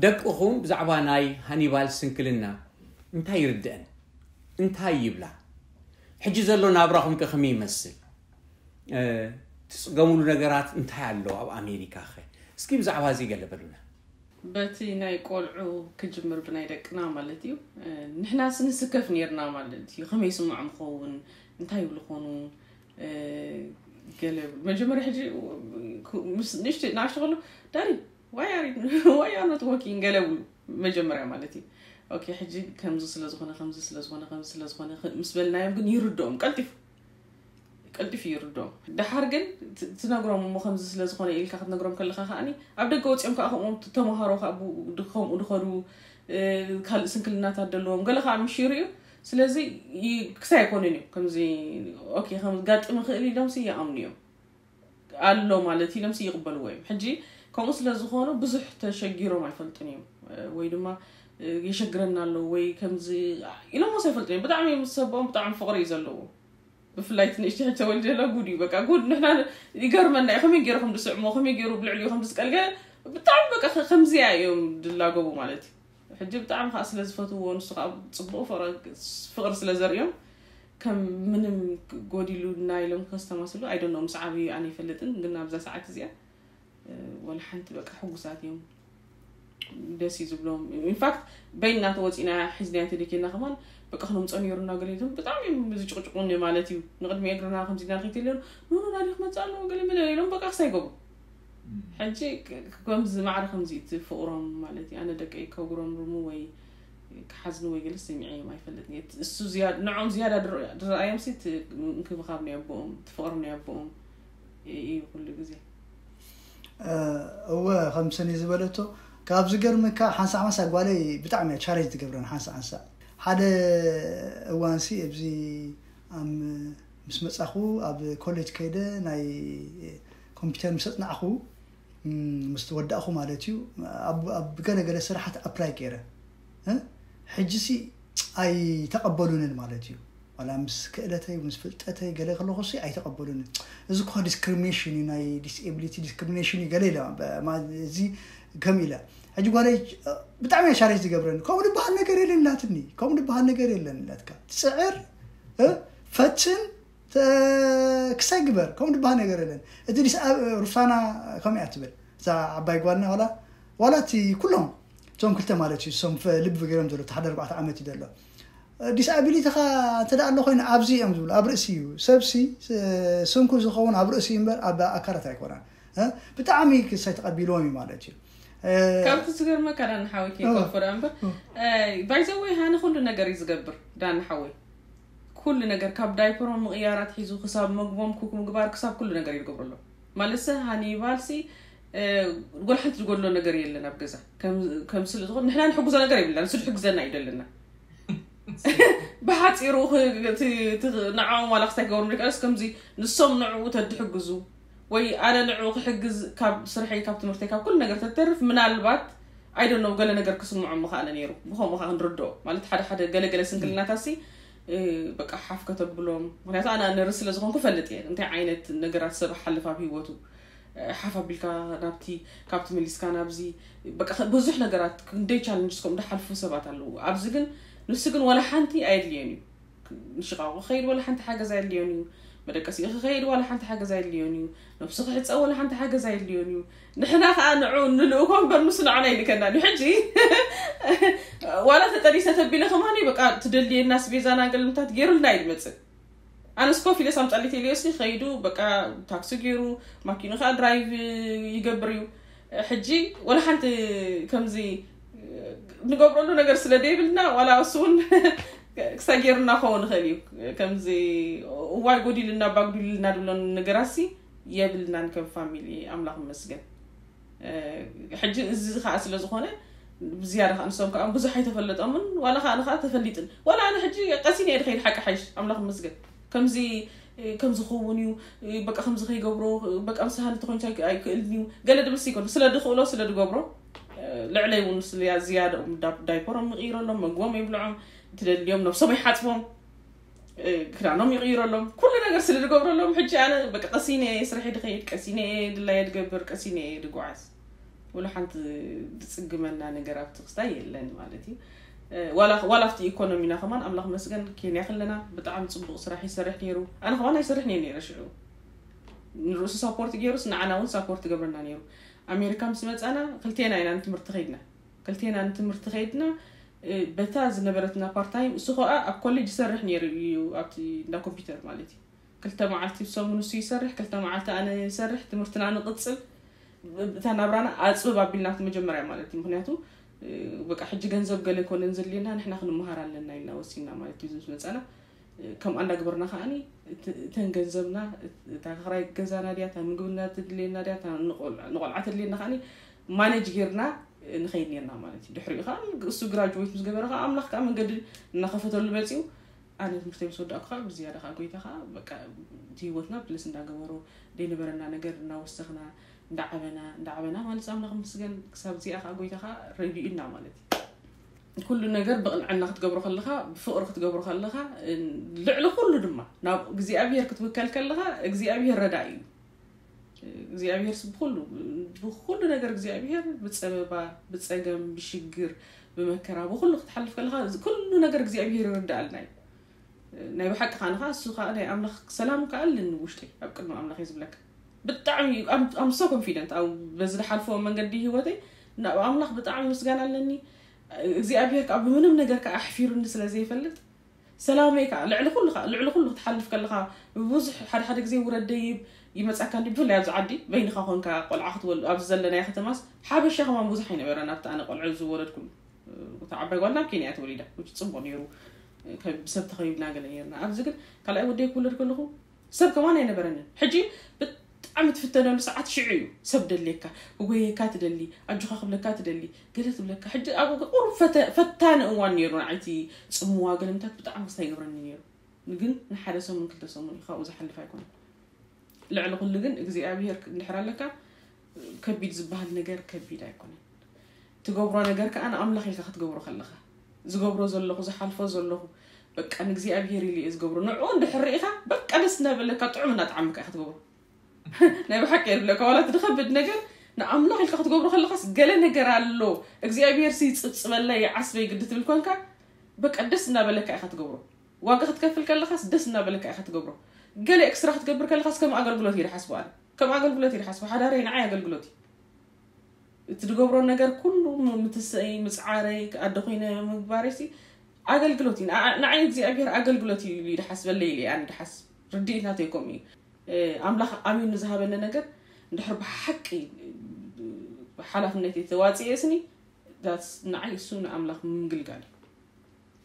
ደቅኹም ብዛዕባ ናይ ሃኒባል ስንክልና እንታይ ይርድአን እንታይ ይብላ? ሕጂ ዘሎ ናብራኹም ከ ከመይ ይመስል? ትፅገሙሉ ነገራት እንታይ ኣሎ ኣብ ኣሜሪካ ኸ? እስኪ ብዛዕባ እዚ ገለ በሉና። በቲ ናይ ቆልዑ ክጅምር ብናይ ደቅና ማለት እዩ። ንሕናስ ንስከፍ ነርና ማለት እዩ። ከመይ ይስምዖም ኸውን እንታይ ይብሉ ኾኑ? ገለ መጀመርያ ሕጂ ንእሽተ ናእሽተ ከሎ ዳሪ why are you not working ገለ ብሉ መጀመርያ ማለት እዩ። ኦኬ ሕጂ ከምዚ ስለዝኾነ ከምዚ ስለዝኾነ ከምዚ ስለዝኾነ ምስ በልናዮም ግን ይርድኦም ቀልጢፉ ቀልጢፉ ይርድኦም። ደሓር ግን ትነግሮም እሞ ከምዚ ስለዝኾነ ኢልካ ክትነግሮም ከለኻ ከዓኒ ኣብ ደገ ወፂኦም ከዓ ከምኦም ተምሃሮ ከዓ ከምኡ ድኸዱ ካልእ ስንክልናታት ደለዎም ገለ ከዓ ምሽ ይርእዩ። ስለዚ ክሳይ ኣይኮኑን እዮም ከምዚ ኦኬ ከም ጋጥም ይኽእል ኢሎም ሲ ይኣምኑ እዮም ኣሎ ማለት ኢሎም ሲ ይቕበልዎ እዮም። ሕጂ ከምኡ ስለ ዝኾኑ ብዙሕ ተሸጊሮም ኣይፈልጡን እዮም ወይ ድማ የሸግረና ኣለዉ ወይ ከምዚ ኢሎምስ ኣይፈልጡን እዮም። ብጣዕሚ ምስ ሰብኦም ብጣዕሚ ፍቕሪ እዩ ዘለዎ። ብፍላይ እቲ ንእሽተይ ሕጂ ተወሊደ ዘሎ ጉድ እዩ በቃ ጉድ ንሕና ይገርመና እዩ ከመይ ገይሩ ከም ዝስዕሞ ከመይ ገይሩ ብልዕሊኡ ከም ዝስቀል ገለ ብጣዕሚ በቃ ከምዚኣ እዮም ዝላገቡ ማለት እዩ። ሕጂ ብጣዕሚ ከዓ ስለ ዝፈትውዎ ንሱ ከዓ ፅቡቅ ፍቅሪ ስለ ዘርእዮም ከም ምንም ጎዲሉና ኢሎም ከስተማስሉ I don't know ምስ ዓብዩ ኣነ ይፈልጥን ግን ኣብዛ ሰዓት እዚኣ ወላ ሓንቲ በቃ ሕጉሳት እዮም። ደስ እዩ ዝብሎም። ኢንፋክት በይንና ተወፂና ሒዝናዮ ተደኪና ከማን በቃ ክነምፀ ነይሩና ገለ ኢሎም ብጣዕሚ እዮም ዝጭቅጭቁኒ ማለት እዩ። ንቅድሚ እግርና ከምዚ ኢልና ንከይድ የለን ኖኖ ናዲ ክመፅእ ኣለዎ ገለ መለ ኢሎም በቃ ክሳይ ገቡ። ሕጂ ከምዚ ማዕረ ከምዚ እቲ ፍቅሮም ማለት እዩ ኣነ ደቀይ ከጉረምርሙ ወይ ክሓዝኒ ወይ ገለ ሰሚዐ እዮም ኣይፈልጥን እየ። እሱ ንዖም ዝያዳ ዝረኣዮም ሲ እንክብኻብ ናይ ኣቦኦም እቲ ፍቅሪ ናይ ኣቦኦም እዩ ኩሉ ግዜ። እወ ከም ሰኒ ዝበለቶ ካብ ዝገርመካ ሓንሳእ ሓንሳእ ጓለይ ብጣዕሚ እያ ቻሌንጅ ትገብረን ሓንሳእ ሓንሳእ ሓደ እዋንሲ ኣብዚ ምስ መፃኹ ኣብ ኮሌጅ ከይደ ናይ ኮምፒተር ምስ ኣፅናዕኹ ምስ ተወዳእኹ ማለት እዩ ኣብ ገለገለ ስራሓት ኣፕላይ ገይረ ሕጂሲ ኣይተቐበሉንን ማለት እዩ ዋላ ምስ ክእለተይ ምስ ፍልጠተይ ገለ ከለኹ ሲ ኣይተቐበሉንን እዚ እኳ ዲስክሪሚኔሽን እዩ ናይ ዲስኤቢሊቲ ዲስክሪሚኔሽን እዩ ገለ ኢለ እዚ ከም ኢለ ሕጂ ጓለይ ብጣዕሚ እያ ሻሬጅ ዝገብረኒ ከምኡ ዝበሃል ነገር የለን ኢላትኒ ከምኡ ዝበሃል ነገር የለን ኢላትካ ትፅዕር ፈትን ክሳይ ግበር ከምኡ ዝበሃል ነገር የለን እቲ ዲስ ሩሳና ከምኡ እያ ትብል እዛ ዓባይ ጓልና ዋላ ዋላ እቲ ኩሎም እቶም ክልተ ማለት እዩ እሶም ልቢ ገይሮም ዘሎ ሓደ ኣርባዕተ ዓመት እዩ ዘሎ ዲስኣቢሊቲኻ እንተ ኣሎ ኮይኑ ኣብዚ እዮም ዝብሉ ኣብ ርእሲ እዩ ሰብሲ ስንኩ ዝኸውን ኣብ ርእሲ እምበር ኣብ ኣካላት ኣይኮነን ብጣዕሚ ክሳይ ተቐቢልዎም እዩ ማለት እዩ ካብቲ ዝገርመካ ዳኒ ሓወይ ከይከፍር እምበር ባይዘወይ ሃኒ ኩሉ ነገር እዩ ዝገብር ዳኒ ሓወይ ኩሉ ነገር ካብ ዳይፐሮም ምቕያር ኣትሒዙ ክሳብ መግቦም ኩክ ምግባር ክሳብ ኩሉ ነገር እዩ ዝገብረሎም ማለት ሰ ሃኒባልሲ ጎል ሓንቲ ዝጎድሎ ነገር የለን ኣብ ገዛ ከም ስለ ዝኾነ ንሕና ንሕግዞ ነገር የብልና ንሱ ዝሕግዘና እዩ ዘለና ብሓፂሩ ንዓኦም ዋላ ክስታይ ክገብሩ ንቀስ ከምዚ ንሶም ንዕኡ ተድሕግዙ ወይ ኣነ ንዕኡ ክሕግዝ ካብ ስርሐይ ካብ ትምህርተይ ካብ ኩሉ ነገር ተተርፍ ምናልባት ኣይደነው ገለ ነገር ክስምዖ ምኽኣለ ነይሩ ብኸምኡ ከዓ ክንርድኦ ማለት ሓደ ሓደ ገለገለ ስንክልናታሲ በቃ ሓፍ ከተብሎም ምክንያቱ ኣነ ነርስ ስለ ዝኾንኩ ፈልጥ እየ እንታይ ዓይነት ነገራት ሰብ ሓልፍ ኣብ ህይወቱ ሓፍ ኣቢልካ ናብቲ ካብቲ መሊስካ ናብዚ በቃ ብዙሕ ነገራት ክንደይ ቻለንጅስ ከምኡ ዝሓልፉ ሰባት ኣለዉ ኣብዚ ግን ንሱ ግን ወላ ሓንቲ ኣየድልዮን እዩ ንሽቃቁ ከይድ ወላ ሓንቲ ሓገዝ ኣየድልዮን እዩ መደቀሲኡ ክኸይድ ዋላ ሓንቲ ሓገዝ ኣይድልዮን እዩ። ነብሱ ክሕፀብ ዋላ ሓንቲ ሓገዝ ኣይድልዮን እዩ። ንሕና ከዓ ንዑ ንልእኮ እምበር ንሱ ንዓና ይልከና እዩ። ሕጂ ዋላ ተጠሊሰ ተቢለ ከማኒ በቃ ትደልየና ስቤዛና ገልምታት ገይሩልና እዩ ዝመፅእ። ኣነስ ኮፍ ኢለ ሳምፃሊት ኢልዮሲ ከይዱ በቃ ታክሲ ገይሩ ማኪኑ ከዓ ድራይቭ ይገብር እዩ። ሕጂ ወላ ሓንቲ ከምዚ ንገብረሉ ነገር ስለ ደይብልና ዋላ እሱ እውን ክሳጌርና ክኸውን ይኽእል እዩ። ከምዚ እዋይ ጎዲልና ባጉዲልና ድብሎን ነገራሲ የብልናን ከም ፋሚሊ። ኣምላኽ ይመስገን። ሕጂ እዚ ከዓ ስለ ዝኾነ ብዝያዳ ከዓ ንሶም ከዓ ብዙሕ ኣይተፈለጦምን ዋላ ከዓ ንከዓ ተፈሊጥን ዋላ ኣነ ሕጂ ቀሲን እየ ድኸይድ ሓቂ ሓይሽ ኣምላኽ ይመስገን። ከምዚ ከምዚ ክኸውን እዩ በቃ ከምዚ ከይገብሮ በቃ ምስ ሃኒ ተኮይንካ ኣይክእልን እዩ ገለ ድብል ሲኮን ስለ ድኽእሎ ስለ ድገብሮ። ልዕለይ እውን ዝያደኦም ዳይፐሮም ይቕይረሎም መግቦም የብልዖም ትደልዮም ነብሶም ይሓፅቦም። ክዳኖም ይቕይረሎም ኩሉ ነገር ስለ ዝገብረሎም ሕጂ ኣነ በቃ ቀሲነ ስርሒ ድኸይድ ቀሲነ ድላየ ድገብር ቀሲነ ድጓዓዝ። ወላ ሓንቲ ዝፅግመና ነገር ኣብቲ ክስታይ የለን ማለት እዩ። ዋላ ኣብቲ ኢኮኖሚና ከማን ኣምላኽ መስገን ኬንያ ከለና ብጣዕሚ ፅቡቕ ስራሕ ይሰርሕ ነይሩ። ኣነ ከማን ኣይሰርሕ ነየ ነይረ ሽዑ ንርእሱ ሳፖርት ገይሩስ ንዓና እውን ሳፖርት ገብረና ነይሩ። ኣሜሪካ ምስ መፃና ክልቴና ኢና ንትምህርቲ ከይድና ክልቴና ንትምህርቲ ከይድና። በታ ዝነበረትና ፓርታይም እሱ ከዓ ኣብ ኮሌጅ ይሰርሕ ነይሩ እዩ ኣብቲ እንዳ ኮምፒውተር ማለት እዩ። ክልተ መዓልቲ ብሰሙን እሱ ይሰርሕ ክልተ መዓልቲ ኣነ ይሰርሕ ትምህርትና ንቅፅል። እታ ናብራና ኣፅብብ ኣቢልና ኣብቲ መጀመርያ ማለት እዩ ምክንያቱ በቃ ሕጂ ገንዘብ ገለ ኮነን ዘድልየና ንሕና ክንመሃር ኣለና ኢልና ወሲና ማለት እዩ ዝመፀና። ከምኣ እንዳግበርና ከዓኒ እተን ገንዘብና እታ ክራይ ገዛና ድያ እታ ምግብና ትድልየና ድያ ንቆልዓ ትድልየና ከዓኒ ማነጅ ጌርና ንኸይድ ኔርና ማለት እዩ ድሕሪኡ ከዓ እሱ ግራጅዌት ምስ ገበረ ከዓ ኣምላኽ ከዓ መንገዲ እናኸፈተሉ መፅኡ። ኣነ ትምህርተይ ምስ ወዳእኩ ከዓ ብዝያዳ ከዓ ጎይታ ከዓ በቃ እቲ ህይወትና ብለስ እንዳገበሮ ዘይነበረና ነገር እናወሰኽና እንዳዓበና እንዳዓበና ማለት ኣምላኽ ምስገን ክሳብ እዚኣ ከዓ ጎይታ ከዓ ረዲኡና ማለት እዩ። ኩሉ ነገር ብቕንዕና ክትገብሮ ከለኻ ብፍቕሪ ክትገብሮ ከለኻ ልዕሊ ኩሉ ድማ ናብ እግዚኣብሔር ክትውከል ከለኻ እግዚኣብሔር ረዳኢ እዩ። እግዚኣብሔር ብኩሉ ብኩሉ ነገር እግዚኣብሔር ብፀበባ ብፀገም ብሽግር ብመከራ ብኩሉ ክትሓልፍ ከለኻ ኩሉ ነገር እግዚኣብሔር ይርዳኣልና እዩ። ናይ ብሓቂ ከዓ ንኻ እሱ ከዓ ናይ ኣምላኽ ሰላም ከዓ ኣለኒ ውሽጢ ኣብ ቅድሚ ኣምላኽ እዩ ዝብለካ። ብጣዕሚ ኣምሶ ኮንፊደንት ኣብ በዚ ዝሓልፈዎ መንገዲ ህይወተይ ናብ ኣምላኽ ብጣዕሚ ምስጋና ኣለኒ። እግዚኣብሔር ከዓ ብምንም ነገር ከዓ ኣሕፊሩኒ ስለ ዘይፈልጥ ሰላመይ ከዓ ልዕሊ ኩሉ ከዓ ልዕሊ ኩሉ ክትሓልፍ ከለካ ብዙሕ ሓደ ሓደ ግዜ ውረድ ደይብ ይመፀካ እንዲ ብፍላይ ኣብዚ ዓዲ በይንካ ኮንካ ቆልዓ ክትወልድ ኣብዚ ዘለናዮ ከተማስ ሓበሻ ከማን ብዙሕ ኣይነበረን ኣብቲ ኣነ ቆልዑ ዝወለድኩሉ። እታ ዓባይ ጓልና ኣብ ኬንያ ተወሊዳ which ፅቡቅ ነይሩ። ብሰብ ተኸቢብና ገለ ነርና ኣብዚ ግን ካልኣይ ወደይ ክውለድ ከለኹ ሰብ ከማን ኣይነበረንን ሕጂ ብጣዕሚ ትፍተነሉ ሰዓት ሽዑ እዩ። ሰብ ደልየካ ክጎየካ ትደሊ ኣጆኻ ክብለካ ትደሊ ገለ ትብለካ ሕጂ ኣብኡ ቁሩብ ፈተ- ፈታኒ እዋን ነይሩ ንዓይቲ ፅምዋ ገለምታት ብጣዕሚ ክስታይ ይገብረኒ ነይሩ። ግን ንሓደ ሰሙን ክልተ ሰሙን እዩ ካብኡ ዝሓልፍ ኣይኮነን። ልዕሊ ኩሉ ግን እግዚኣብሄር እንድሕር ኣለካ ከቢድ ዝበሃል ነገር ከቢድ ኣይኮነን። ትገብሮ ነገር ከዓ ንኣምላኽ ኢልካ ክትገብሮ ከለኻ ዝገብሮ ዘለኹ ዝሓልፎ ዘለኹ በቃ ንእግዚኣብሄር ኢሉ እየ ዝገብሮ ንዕኡ እንድሕር ርኢኻ በቃ ደስ እናበለካ ጥዑም እናጠዓመካ ኢኻ ትገብሮ። ናይ ብሓቂ እየ ዝብለካ ዋላ እቲ ዝኸብድ ነገር ንኣምላኽ ኢልካ ክትገብሮ ከለኻስ ገለ ነገር ኣሎ እግዚኣብሄር ሲ ይፅብፅበለይ ይዓስበይ ግዲ ትብል ኮንካ በቃ ደስ እናበለካ ኢኻ ትገብሮ። ዋጋ ክትከፍል ከለኻስ ደስ እናበለካ ኢኻ ትገብሮ። ገለ ኤክስትራ ክትገብር ከለኻስ ከም ኣገልግሎት እየ ዝሓስቦ ኣነ ከም ኣገልግሎት እየ ዝሓስቦ ሓዳረይ ንዓይ ኣገልግሎት እዩ። እቲ ዝገብሮ ነገር ኩሉ ምትሰይ ምፅዓረይ ኣደ ኮይነ ምግባረይ ሲ ኣገልግሎት እዩ ንዓ- ንዓይ እግዚኣብሔር ኣገልግሎት እዩ ኢሉ ይድሓስበለይ ኢለ ኣነ ድሓስ ርድኢት ናተይ ከምኡ እዩ ኣምላኽ ኣሚኑ ዝሃበኒ ነገር እንድሕር ብሓቂ ሓላፍነት ተዋፅኤ ስኒ ንዓይ እሱ ንኣምላኽ ምግልጋል እዩ።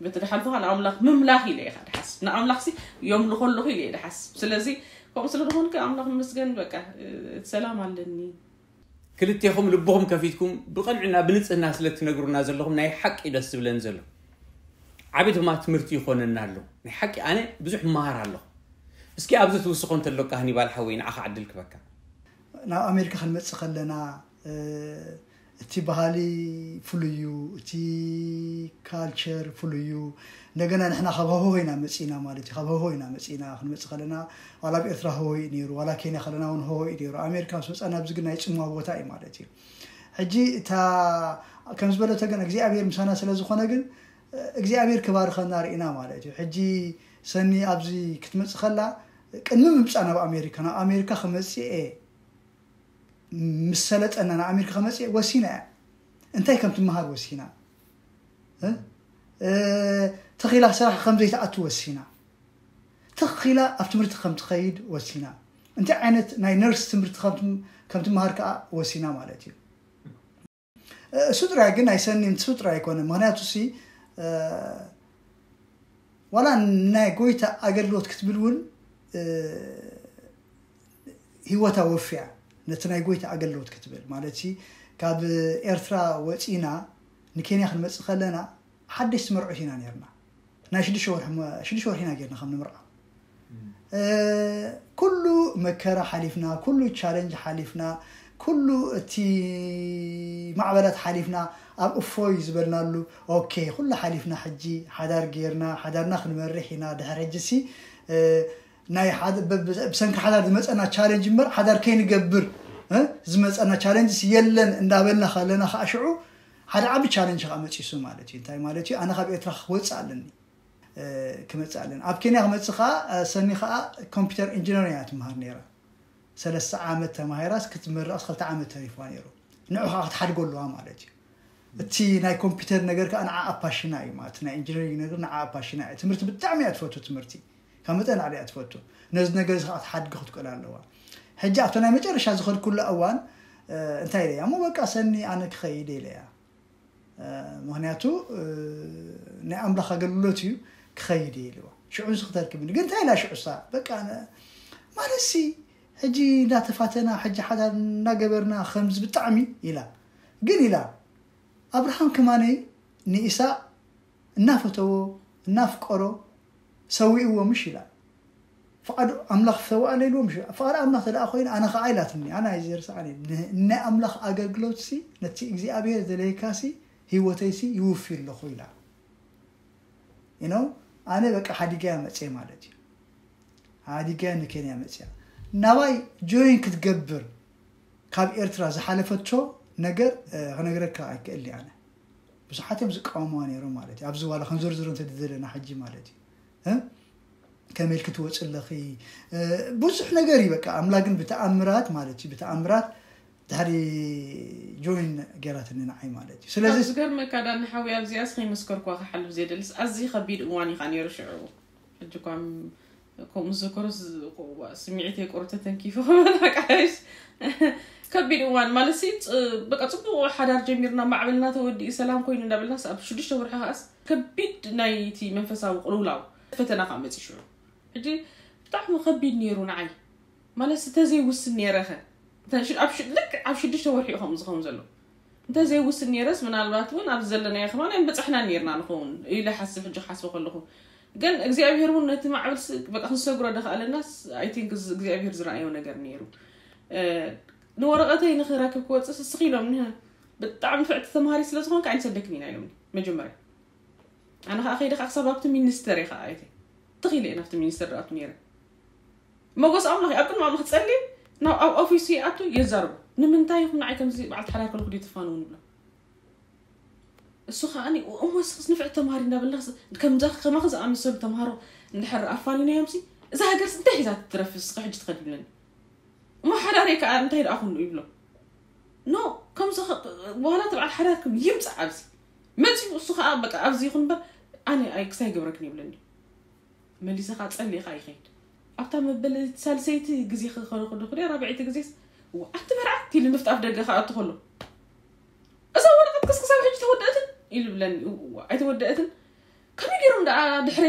በቲ ድሓልፍኻ ንኣምላኽ ምምላኽ ኢለ ኢኻ ድሓስብ ንኣምላኽሲ የምልኾ ኣለኹ ኢለ እየ ድሓስብ ስለዚ ከምኡ ስለ ዝኾንከ ኣምላኽ ምስገን በቃ እቲ ሰላም ኣለኒ። ክልቴኹም ልብኹም ከፊትኩም ብቕንዕና ብንፅህና ስለ ትነግሩና ዘለኹም ናይ ሓቂ ደስ ዝብለን ዘሎ ዓቢ ድማ ትምህርቲ ይኾነና ኣሎ ናይ ሓቂ ኣነ ብዙሕ መሃር ኣለኹ። እስኪ ኣብዚ ትውስኾ እንተሎካ ሃኒባል ሓወይ ንዓኻ ዕድል ክበካ። ናብ ኣሜሪካ ክንመፅእ ከለና እቲ ባህሊ ፍሉይ እዩ፣ እቲ ካልቸር ፍሉይ እዩ። እንደገና ንሕና ካብ ሀሆ ኢና መፂና ማለት እዩ። ካብ ሀሆ ኢና መፂና ክንመፅእ ከለና ዋላ ኣብ ኤርትራ ሀሆ እዩ ነይሩ፣ ዋላ ኬንያ ከለና እውን ሀሆ እዩ ነይሩ። ኣሜሪካ ምስ መፃና ኣብዚ ግን ናይ ፅምዋ ቦታ እዩ ማለት እዩ። ሕጂ እታ ከም ዝበለቶ ግን እግዚኣብሔር ምሳና ስለ ዝኾነ ግን እግዚኣብሔር ክባርከና ርኢና ማለት እዩ። ሕጂ ሰኒ ኣብዚ ክትመፅእ ከላ ቅድሚ ምምፃእ ናብ ኣሜሪካ ናብ ኣሜሪካ ከመፅኤ ምስ ሰለጠና ናብ ኣሜሪካ ከመፅኤ ወሲና እያ። እንታይ ከም ትመሃር ወሲና፣ ተኺላ ስራሕ ከም ዘይትኣቱ ወሲና፣ ተኺላ ኣብ ትምህርቲ ከም ትኸይድ ወሲና፣ እንታይ ዓይነት ናይ ነርስ ትምህርቲ ከም ትመሃር ከዓ ወሲና ማለት እዩ። እሱ ጥራይ ግን ኣይሰኒን እሱ ጥራይ ኣይኮነ። ምክንያቱ ሲ ዋላ ናይ ጎይታ ኣገልግሎት ክትብል እውን ህይወታ ወፍያ ነቲ ናይ ጎይታ ኣገልግሎት ክትብል ማለት ሲ ካብ ኤርትራ ወፂና ንኬንያ ክንመፅእ ከለና ሓደሽቲ መርዑት ኢና ነርና። ናይ ሽዱሽተ ወርሒ ኢና ጌርና ከም ንምርዓ። ኩሉ መከራ ሓሊፍና፣ ኩሉ ቻለንጅ ሓሊፍና፣ ኩሉ እቲ ማዕበላት ሓሊፍና ኣብ እፎይ ዝበልናሉ፣ ኦኬ ኩሉ ሓሊፍና ሕጂ ሓዳር ጌርና ሓዳርና ክንመርሕ ኢና። ድሕር ሕጂ ሲ ብሰንኪ ሓዳር ዝመፀና ቻለንጅ እምበር ሓዳር ከይንገብር ዝመፀና ቻለንጅ የለን እንዳበልና ከለና ከዓ ሽዑ ሓደ ዓቢ ቻለንጅ ከዓ መፂሱ ማለት እዩ። እንታይ ማለት እዩ? ኣነ ካብ ኤርትራ ክወፅእ ኣለኒ ክመፅእ ኣለኒ ኣብ ኬንያ ክመፅእ ከዓ ሰኒ ከዓ ኮምፒውተር ኢንጂነር እያ ትምሃር ነይራ። ሰለስተ ዓመት ተማሂራስ ክትምረቕስ ክልተ ዓመት ተሪፍዋ ነይሩ። ንዑ ከዓ ክትሓድጎ ኣለዋ ማለት እዩ። እቲ ናይ ኮምፒውተር ነገር ከዓ ንዓ ኣፓሽና እዩ ማለት ናይ ኢንጂነሪንግ ነገር ንዓ ኣፓሽና እዩ። ትምህርቲ ብጣዕሚ እያ ትፈቱ ትምህርቲ ካብ መጠን ላዕሊ እያ ትፈቱ። ነዚ ነገር እዚ ከዓ ክትሓድጊ ክትክእል ኣለዋ። ሕጂ ኣብቲ ናይ መጨረሻ ዝኸድኩላ እዋን እንታይ ኢለያ እሞ በቃ ሰኒ ኣነ ክኸይድ ኢለያ። ምክንያቱ ናይ ኣምላኽ ኣገልግሎት እዩ ክኸይድ እየ ኢልዋ። ሽዑ ንስ ክተርክብኒ ግን እንታይ ኢላ ሽዑሳ በቃ ማለትሲ ሕጂ እንዳተፋተና ሕጂ ሓዳር እንዳገበርና ከምዚ ብጣዕሚ ኢላ ግን ኢላ ኣብርሃም ከማነይ ንኢሳቅ እናፈተዎ እናፍቀሮ ሰዊእዎ ምሽ ኢላ ፍቓድ ኣምላኽ ሰውኣለ ኢልዎ ምሽ ፍቓድ ኣምላኽ ተደኣ ኮይኑ ኣነ ከዓ ኢላትኒ ኣነ ኣይዘርስዓኒ ናይ ኣምላኽ ኣገልግሎት ሲ ነቲ እግዚኣብሔር ዘለየካ ሲ ህይወተይ ሲ ይውፊ ኣለኹ ኢላ you know ኣነ በቃ ሓዲገያ መፅየ ማለት እዩ ሓዲገያ ንኬንያ መፅያ ናባይ ጆይን ክትገብር ካብ ኤርትራ ዝሓለፈቶ ነገር ክነግረካ ኣይክእል ኣነ ብዙሓት እዮም ዝቃወምዋ ነይሮም ማለት እዩ ኣብዚ ዋላ ክንዝርዝሮ እንተደለና ሕጂ ማለት እዩ ከመይ ኢልኪ ትወፂ ኣለኺ ብዙሕ ነገር እዩ በቃ ኣምላክ ግን ብተኣምራት ማለት እዩ ብተኣምራት ድሕሪ ጆይን ገይራትኒ ንዓይ ማለት እዩ ስለዚ ዝገርመካ ዳኒ ሓዊ ኣብዚኣስ ከይመስከርኳ ክሓልፍ ዘየደልስ ኣዝዩ ከቢድ እዋን እዩ ከዓ ነይሩ ሽዑ ሕጂ እኳ ከምኡ ዝዘከሮ ስምዒተይ ቁሩብ ተተንኪፉ ክበላ ቃይስ ከቢድ እዋን ማለት ሲ በቃ ፅቡቅ ሓዳር ጀሚርና ማዕበልና ተወዲኡ ሰላም ኮይኑ እንዳበልናስ ኣብ ሽዱሽተ ወርሒ ከዓስ ከቢድ ናይቲ መንፈሳዊ ቅልውላው ፈተና ከዓ መፂ ሽዑ ሕጂ ብጣዕሚ ከቢድ ነይሩ ንዓይ ማለት ሲ ተዘይውስን ነይረኸ ልክ ኣብ ሽዱሽተ ወርሒ እዩ ከምኡ ዝኸውን ዘሎ እንተዘይውስን ነይረስ ምናልባት እውን ኣብዚ ዘለናዮ ከማን ኣይምበፃሕና ነይርና ንኸውን ኢለ ሓስብ ሕጂ ክሓስበ ከለኹ ግን እግዚኣብሔር እውን ነቲ ማዕበል በቃ ክንሰግሮ ደኽኣለናስ ኣይቲንክ እግዚኣብሔር ዝረኣዮ ነገር ነይሩ ንወረቐተይ ንኽረክብ ክወፅእ ስስኽ ኢሎም ብጣዕሚ ንፍዕቲ ተምሃሪ ስለ ዝኾንካ ኣይንሰደክን ኢና ኢሎም መጀመርያ ኣነ ከዓ ከይደ ከዓ ክሳብ ኣብቲ ሚኒስተር እየ ከዓ ኣይተ ትኽኢለ እየ ናብቲ ሚኒስተር ድኣቱ ነይረ መጎስ ኣምላኽ ኣብ ቅድሚ ኣምላኽ ጸሊ ናብ ኣብ ኦፊሱ ይኣቱ የዛርቦ ንምንታይ ኢኹም ንዓይ ከምዚ በዓልቲ ሓዳር ከለኹ ድዩ ትፋነው ንብሎ እሱ ከዓ እሞ ስክስ ንፍዕቲ ተምሃሪ እንዳበልና ከምዛ ከማኺ ዝኣመሰሉ ተምሃሮ እንድሕር ኣፋኒናዮም ሲ እዛ ሃገርስ እንታይ ሒዛ ትትረፍ እስኸ ሕጂ ትኸድ ይብለኒ እሞ ሓዳረይ ከዓ እንታይ ደኣ ኩሉ ይብሎ ኖ ከምዚ ዋላ ተብዓል ሓዳርኩም ይምፃእ ኣብዚ መፂኡ እሱ ከዓ በቃ ኣብዚ ይኹን እምበር ኣነ ክሳይ ገብረክን ይብለኒ መሊሰ ከዓ ፀሊእ ከዓ ይኸይድ ኣብታ መበለቲ ሳልሰይቲ ግዜ ክኸነ ከለኹ ራብዐይቲ ግዜስ ኣንቲ መርዓት ኢሉ ንፍጣፍ ደገ ከዓ ኣቱ ከሎ እዛ ወረቀት ክስ ክሳብ ሕጂ ተወደእትን ኢሉ ብለኒ ኣይተወደእትን ከመይ ገይሮም ደኣ ድሕሬ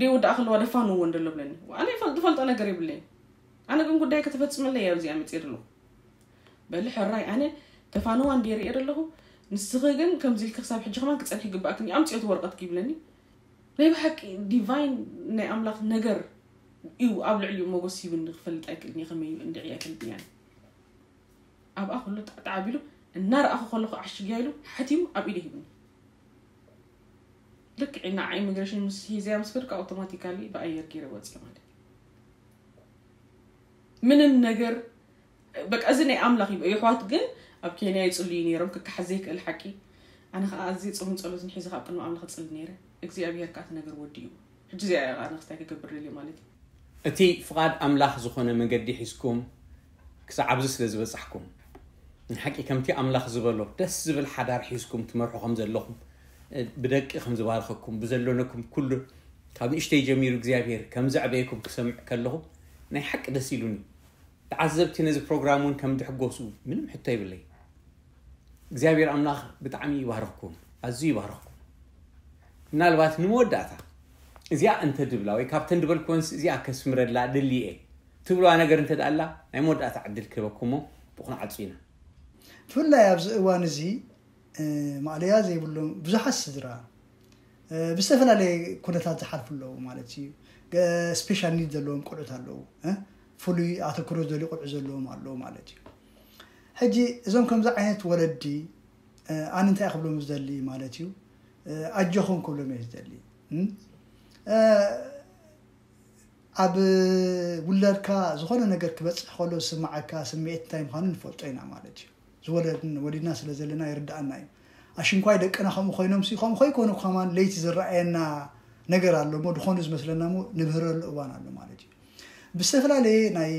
ደይወዳኣ ከለዋ ደፋንዎ እንደሎ ብለኒ ኣነ ዝፈልጦ ነገር የብለይ ኣነ ግን ጉዳይ ከተፈፅመለይ እያ ኣብዚኣ መፅየ ደለኹ በሊ ሕራይ ኣነ ተፋንዋ እንድየ ርእየ ደለኹ ንስኺ ግን ከምዚ ኢልኪ ክሳብ ሕጂ ከማን ክፀንሒ ይግባእክን እዩ ኣምፅኦት ወረቐት ይብለኒ ናይ ብሓቂ ዲቫይን ናይ ኣምላኽ ነገር እዩ ኣብ ልዕሊኡ ሞጎስ ሂብኒ ክፈልጥ ኣይክእልን እየ ከመይ እንድዒ ኣይፈልጥን እያ ኣብኣ ኩሉ ጣዕጣዕ ኣቢሉ እናረኣኹ ከለኹ ዓሽግያ ኢሉ ሓቲሙ ኣብ ኢደ ሂብኒ ልክዕ ኢና ኢሚግሬሽን ምስ ሂዘያ ምስ ከድካ ኣውቶማቲካሊ ብኣየር ገይረ ወፅየ ማለት ምንም ነገር በቃ እዚ ናይ ኣምላኽ እዩ የሕዋት ግን ኣብ ኬንያ ይፅልዩ ነይሮም ክከሓዝ ዘይክእል ሓቂ ኣነ ከዓ ኣዝየ ፆምን ፀሎትን ሒዘ ካብ ቅድሚ ኣምላኽ እፅሊ ነይረ እግዚኣብሄር ከዓ እቲ ነገር ወዲኡ ሕጂ እዚኣ እያ ከዓ ክስታይ ክገብር ደልየ ማለት እዩ እቲ ፍቓድ ኣምላኽ ዝኾነ መገዲ ሒዝኩም ክሳዕ ኣብዚ ስለ ዝበጻሕኩም፣ ንሓቂ ከምቲ ኣምላኽ ዝበሎ ደስ ዝብል ሓዳር ሒዝኩም ትመርሑ ከም ዘለኹም፣ ብደቂ ከም ዝባርኸኩም፣ ብዘሎነኩም ኩሉ ካብ ንእሽተይ ጀሚሩ እግዚኣብሔር ከም ዘዕበየኩም ክሰምዕ ከለኹ ናይ ሓቂ ደስ ኢሉኒ። ተዓዘብቲ ነዚ ፕሮግራም እውን ከም ዝሕጎሱ ምንም ሕቶ ይብለይ። እግዚኣብሔር ኣምላኽ ብጣዕሚ ይባርኽኩም፣ ኣዝዩ ይባርኽኩም። ምናልባት ንመወዳእታ እዚኣ እንተ ድብላ ወይ ካብተን ድበልኩወንስ እዚኣ ከስምረላ ድልየ ትብልዋ ነገር እንተ ደኣላ ናይ መወዳእታ ዕድል ክህበኩሞ ብኹን ዓጹ ኢና። ብፍላይ ኣብዚ እዋን እዚ ማዕለያ ዘይብሎም ብዙሓት ስድራ ብዝተፈላለየ ኩነታት ዝሓልፉ ኣለዉ ማለት እዩ። ስፔሻል ኒድ ዘለዎም ቁዑት ኣለዉ፣ ፍሉይ ኣተክሮ ዘሊ ቁዑ ዘለዎም ኣለዉ ማለት እዩ። ሕጂ እዞም ከምዚ ዓይነት ወለዲ ኣነ እንታይ ክብሎም ዝደሊ ማለት እዩ፣ ኣጆኹም ክብሎም እየ ዝደሊ። ኣብ ውላድካ ዝኾነ ነገር ክበፅሕ ከሎ ዝስማዓካ ስምዒት እንታይ ምዃኑ ንፈልጦ ኢና ማለት እዩ። ዝወለድን ወሊድና ስለ ዘለና ይርዳኣና እዩ። ኣሽንኳይ ደቅና ከምኡ ኮይኖም ሲ ከምኡ ኮይኮኑ ከማን ለይቲ ዝረኣየና ነገር ኣሎ ሞ ድኾኑ ዝመስለና ሞ ንብህረሉ እዋን ኣሎ ማለት እዩ። ብዝተፈላለየ ናይ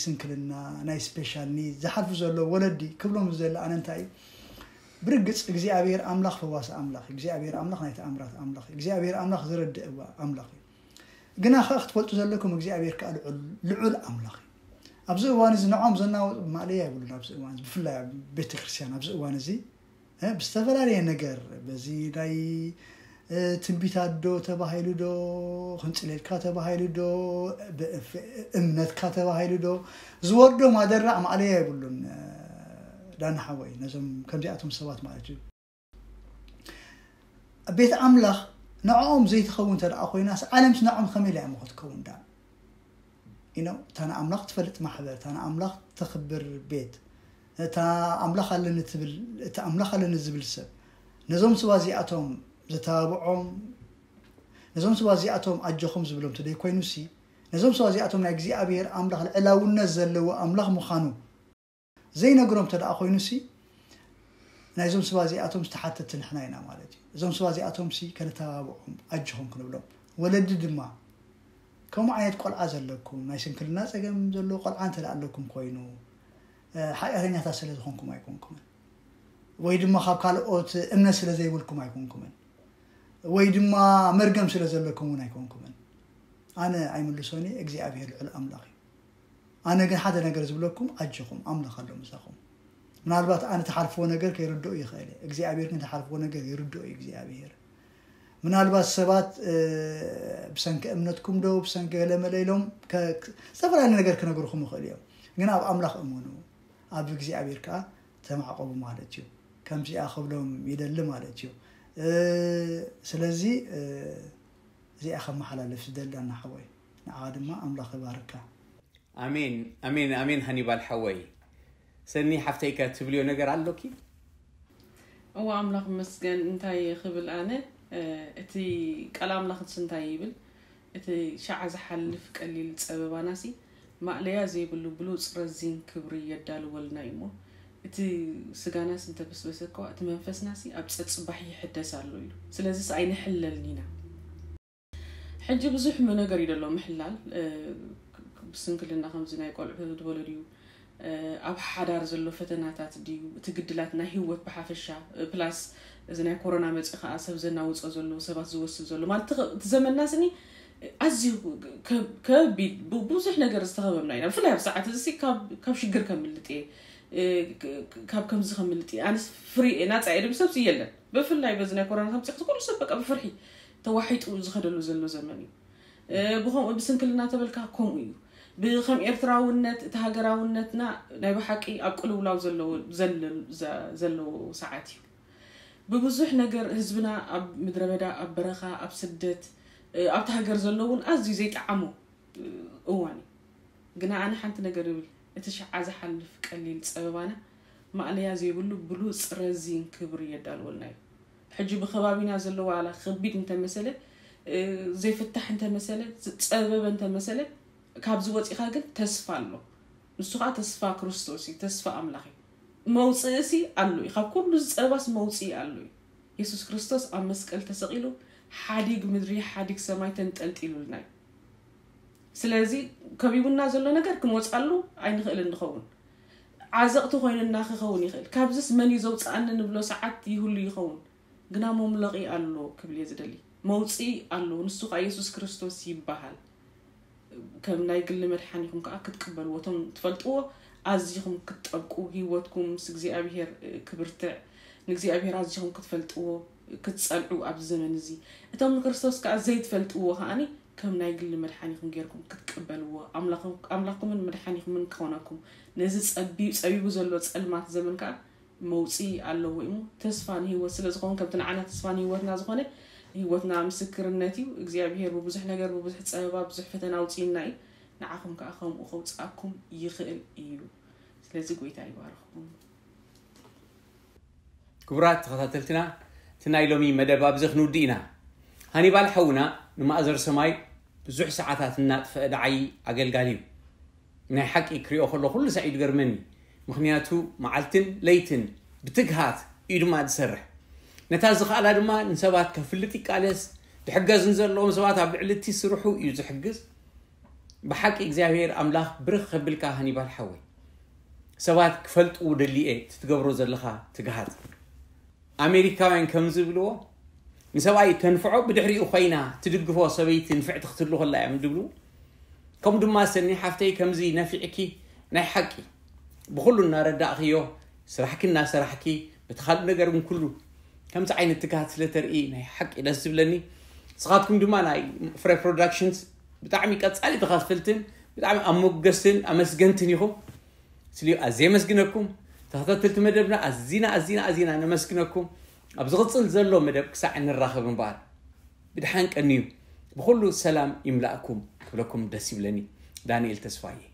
ስንክልና ናይ ስፔሻል ኒድ ዝሓልፉ ዘሎ ወለዲ ክብሎም ዝደሊ ኣነ እንታይ እዩ፣ ብርግፅ እግዚኣብሔር ኣምላኽ ፈዋሲ ኣምላኽ እዩ። እግዚኣብሔር ኣምላኽ ናይ ተኣምራት ኣምላኽ እዩ። እግዚኣብሔር ኣምላኽ ዝረድእ ኣምላኽ እዩ። ግና ከ ክትፈልጡ ዘለኩም እግዚኣብሔር ከዓ ልዑል ኣምላኽ እዩ። ኣብዚ እዋን እዚ ንዖም ዘናወጡ ማእለያ ይብሉን ኣብዚ እዋን እዚ ብፍላይ ኣብ ቤተክርስትያን ኣብዚ እዋን እዚ ብዝተፈላለየ ነገር በዚ ናይ ትንቢታት ዶ ተባሂሉ ዶ ክንፅሌልካ ተባሂሉ ዶ እምነትካ ተባሂሉ ዶ ዝወርዶ ማደራዕ ማእለያ ይብሉን። ዳና ሓወይ ነዞም ከምዚኣቶም ሰባት ማለት እዩ ቤት ኣምላኽ ንዕኦም ዘይትኸውን እንተ ደኣ ኮይናስ ዓለምስ ንዕኦም ከመይ ኢላ እሞ ክትከውን ዳ ኢኖ እታ ንኣምላኽ ትፈልጥ ማሕበር እታ ንኣምላኽ ተኽብር ቤት እታ ኣምላኽ ኣለኒ ትብል እቲ ኣምላኽ ኣለኒ ዝብል ሰብ ነዞም ስባ እዚኣቶም ዘተባብዖም ነዞም ስባ እዚኣቶም ኣጆኹም ዝብሎም ተደይ ኮይኑሲ ነዞም ስባ እዚኣቶም ናይ እግዚኣብሔር ኣምላኽ ልዕላውነት ዘለዎ ኣምላኽ ምዃኑ ዘይነግሮም ተደኣ ኮይኑሲ ናይዞም ስባ እዚኣቶም ዝተሓተቲ ንሕና ኢና ማለት እዩ። እዞም ስባ እዚኣቶምሲ ከነተባብዖም ኣጆኹም ክንብሎም ወለዲ ድማ ከምኡ ዓይነት ቆልዓ ዘለኩም ናይ ስንክልና ፀገም ዘለዎ ቆልዓ እንተ ኣለኩም ኮይኑ ሓጢኣተኛታት ስለ ዝኾንኩም ኣይኮንኩምን ወይ ድማ ካብ ካልኦት እምነት ስለ ዘይብልኩም ኣይኮንኩምን ወይ ድማ መርገም ስለ ዘለኩም እውን ኣይኮንኩምን። ኣነ ኣይምልሶን እየ እግዚኣብሔር ልዑል ኣምላኽ እዩ። ኣነ ግን ሓደ ነገር ዝብለኩም ኣጆኹም ኣምላኽ ኣሎ ምሳኹም። ምናልባት ኣነ ተሓልፍዎ ነገር ከይርድኦ ይኽእል እየ እግዚኣብሔር ግን ተሓልፍዎ ነገር ይርድኦ እዩ እግዚኣብሔር። ምናልባት ሰባት ብሰንኪ እምነትኩም ዶ ብሰንኪ ገለመለ ኢሎም ዝተፈላለዩ ነገር ክነግርኹም ይኽእል እዮም። ግን ኣብ ኣምላኽ እመኑ ኣብ እግዚኣብሔር ከዓ ተማዕቆቡ ማለት እዩ። ከምዚኣ ክብሎም ይደሊ ማለት እዩ። ስለዚ እዚኣ ከመሓላለፍ ዝደሊ ኣናሓወይ ንዓ ድማ ኣምላኽ ይባርካ። ኣሜን ኣሜን ኣሜን ሃኒባል ሓወይ። ሰኒ ሓፍተይከ ትብልዮ ነገር ኣሎኪ? እዋ ኣምላኽ መስገን እንታይ ክብል ኣነ እቲ ቃል ኣምላኽስ እንታይ ይብል? እቲ ሻዓ ዝሓልፍ ቀሊል ጸበባናሲ ማእለያ ዘይብሉ ብሉጽ ረዚን ክብሪ የዳልወልና እዩሞ እቲ ስጋናስ እንተበስበሰ እኳ እቲ መንፈስናሲ ኣብ ጸጽባሕ ይሕደስ ኣሎ ኢሉ። ስለዚስ ኣይንሕለልን ኢና። ሕጂ ብዙሕ ነገር እዩ ደሎ ምሕላል ብስንክልና ከምዚ ናይ ቆልዑ ዝበሎ ድዩ ኣብ ሓዳር ዘሎ ፈተናታት ድዩ እቲ ግድላት ናይ ህይወት ብሓፈሻ ፕላስ እዚ ናይ ኮሮና መፂ ከዓ ሰብ ዘናውፆ ዘሎ ሰባት ዝወስድ ዘሎ ማለት እቲ ዘመንና ስኒ ኣዝዩ ከቢድ ብዙሕ ነገር ዝተኸበብና ኢና ብፍላይ ኣብ ሰዓት እዚ ካብ ሽግር ከምልጥ እየ ካብ ከምዚ ከምልጥ እየ ኣነስ ፍሪ እየ ናፃ እየ ድብል ሰብሲ የለን ብፍላይ በዚ ናይ ኮሮና ከምፂ ኩሉ ሰብ በቃ ብፍርሒ ተዋሒጡ ዝኸደሉ ዘሎ ዘመን እዩ ብከምኡ ብስንክልና ተበልካ ከምኡ እዩ ብከም ኤርትራውነት እቲ ሃገራውነትና ናይ ብሓቂ ኣብ ቅልውላው ዘለዎ ሰዓት እዩ ብብዙሕ ነገር ህዝብና ኣብ ምድረ በዳ ኣብ በረኻ ኣብ ስደት ኣብቲ ሃገር ዘሎ እውን ኣዝዩ ዘይጠዓሞ እዋን እዩ ግና ኣነ ሓንቲ ነገር ይብል እቲ ሸዓ ዝሓልፍ ቀሊል ፀበባና ማእለያ ዘይብሉ ብሉፅ ረዚን ክብሪ የዳልወልና እዩ ሕጂ ብከባቢና ዘሎ ዋላ ከቢድ እንተመሰለ ዘይፍታሕ እንተመሰለ ዝፀበበ እንተመሰለ ካብዚ ወፂኻ ግን ተስፋ ኣሎ ንሱ ከዓ ተስፋ ክርስቶስ እዩ ተስፋ ኣምላኽ እዩ መውፅእሲ ኣሎ እዩ ካብ ኩሉ ዝፀበባስ መውፅኢ ኣሎ እዩ የሱስ ክርስቶስ ኣብ መስቀል ተሰቒሉ ሓዲግ ምድሪ ሓዲግ ሰማይ ተንጠልጢሉልና እዩ ስለዚ ከቢቡና ዘሎ ነገር ክንወፃሉ ኣይንኽእልን ንኸውን። ዓዘቕቲ ኮይኑና ክኸውን ይኽእል። ካብዚስ መን እዩ ዘውፅኣኒ ንብሎ ሰዓት ይህሉ ይኸውን። ግና መምለቒ ኣሎ ክብል እየ ዝደሊ። መውፅኢ ኣሎ፣ ንሱ ከዓ የሱስ ክርስቶስ ይበሃል። ከም ናይ ግሊ መድሓኒኹም ከዓ ክትቅበልዎ፣ እቶም ትፈልጥዎ ኣዚኹም ክትጠብቁ፣ ህይወትኩም ምስ እግዚኣብሔር ክብርትዕ፣ ንእግዚኣብሔር ኣዚኹም ክትፈልጥዎ ክትጸንዑ ኣብዚ ዘመን እዚ። እቶም ንክርስቶስ ከዓ ዘይትፈልጥዎ ከዓኒ ከም ናይ ግሊ መድሓኒኹም ጌርኩም ክትቀበልዎ፣ ኣምላኽኩምን መድሓኒኹምን ክኾነኩም፣ ነዚ ጸቢቡ ዘሎ ጸልማት ዘመን ከዓ መውፅኢ ኣለዎ እሞ፣ ተስፋ ንህይወት ስለ ዝኾን፣ ከምቲ ንዓና ተስፋ ንህይወትና ዝኾነ፣ ህይወትና ምስክርነት እዩ። እግዚኣብሔር ብብዙሕ ነገር፣ ብብዙሕ ጸበባ፣ ብዙሕ ፈተና ኣውፅእና እዩ። ንዓኹም ከዓ ከምኡ ከውፅኣኩም ይኽእል እዩ። ስለዚ ጎይታ ይባርኽኩም። ክቡራት ተኸታተልትና፣ እቲ ናይ ሎሚ መደብ ኣብዚ ክንውድእ ኢና። ሃኒባል ሓውና ንማእዘር ሰማይ ብዙሕ ሰዓታት እናጥፈአ ደዓይ ኣገልጋሊ እዩ። ናይ ሓቂ ክሪኦ ከሎ ኩሉ ሳዕ እዩ ዝገርመኒ። ምኽንያቱ መዓልትን ለይትን ብትግሃት እዩ ድማ ዝሰርሕ። ነታ ዝኸኣላ ድማ ንሰባት ከፍልጥ ይቃለስ። ዝሕገዝ ንዘለዎም ሰባት ኣብ ልዕሊ እቲ ስርሑ እዩ ዝሕግዝ። ብሓቂ እግዚኣብሔር ኣምላኽ ብርኽ ከብልካ ሃኒባል ሓወይ። ሰባት ክፈልጥዎ ደልየ እቲ ትገብሮ ዘለኻ ትግሃት። ኣሜሪካውያን ከም ዝብልዎ፣ ንሰብኣይ ተንፍዖ ብድሕሪኡ ኮይና ትድግፎ ሰበይቲ ንፍዕቲ ክትህሉ ከላ እዮም ዝብሉ። ከምኡ ድማ ሰኒ ሓፍተይ ከምዚ ነፊዕኪ ናይ ሓቂ ብኹሉ እናረዳእኽዮ፣ ስራሕኪ እናሰራሕኪ፣ በቲ ካልእ ነገር እውን ኩሉ ከምዚ ዓይነት ትግሃት ስለ ተርኢ ናይ ሓቂ ደስ ዝብለኒ። ንስኻትኩም ድማ ናይ ፍረ ፕሮዳክሽንስ ብጣዕሚ ቀጻሊ ተኻፈልትን ብጣዕሚ ኣሞገስትን ኣመስገንትን ኢኹም። ስልዩ ኣዝየ የመስግነኩም። ተኸታተልቲ መደብና ኣዚና ኣዚና ኣዚና ነመስግነኩም። ኣብ ዝቕጽል ዘሎ መደብ ክሳዕ እንራኸብ እምበኣር ብድሓን ቀንዩ፣ ብኹሉ ሰላም ይምላእኩም ክብለኩም ደስ ይብለኒ። ዳንኤል ተስፋዬ።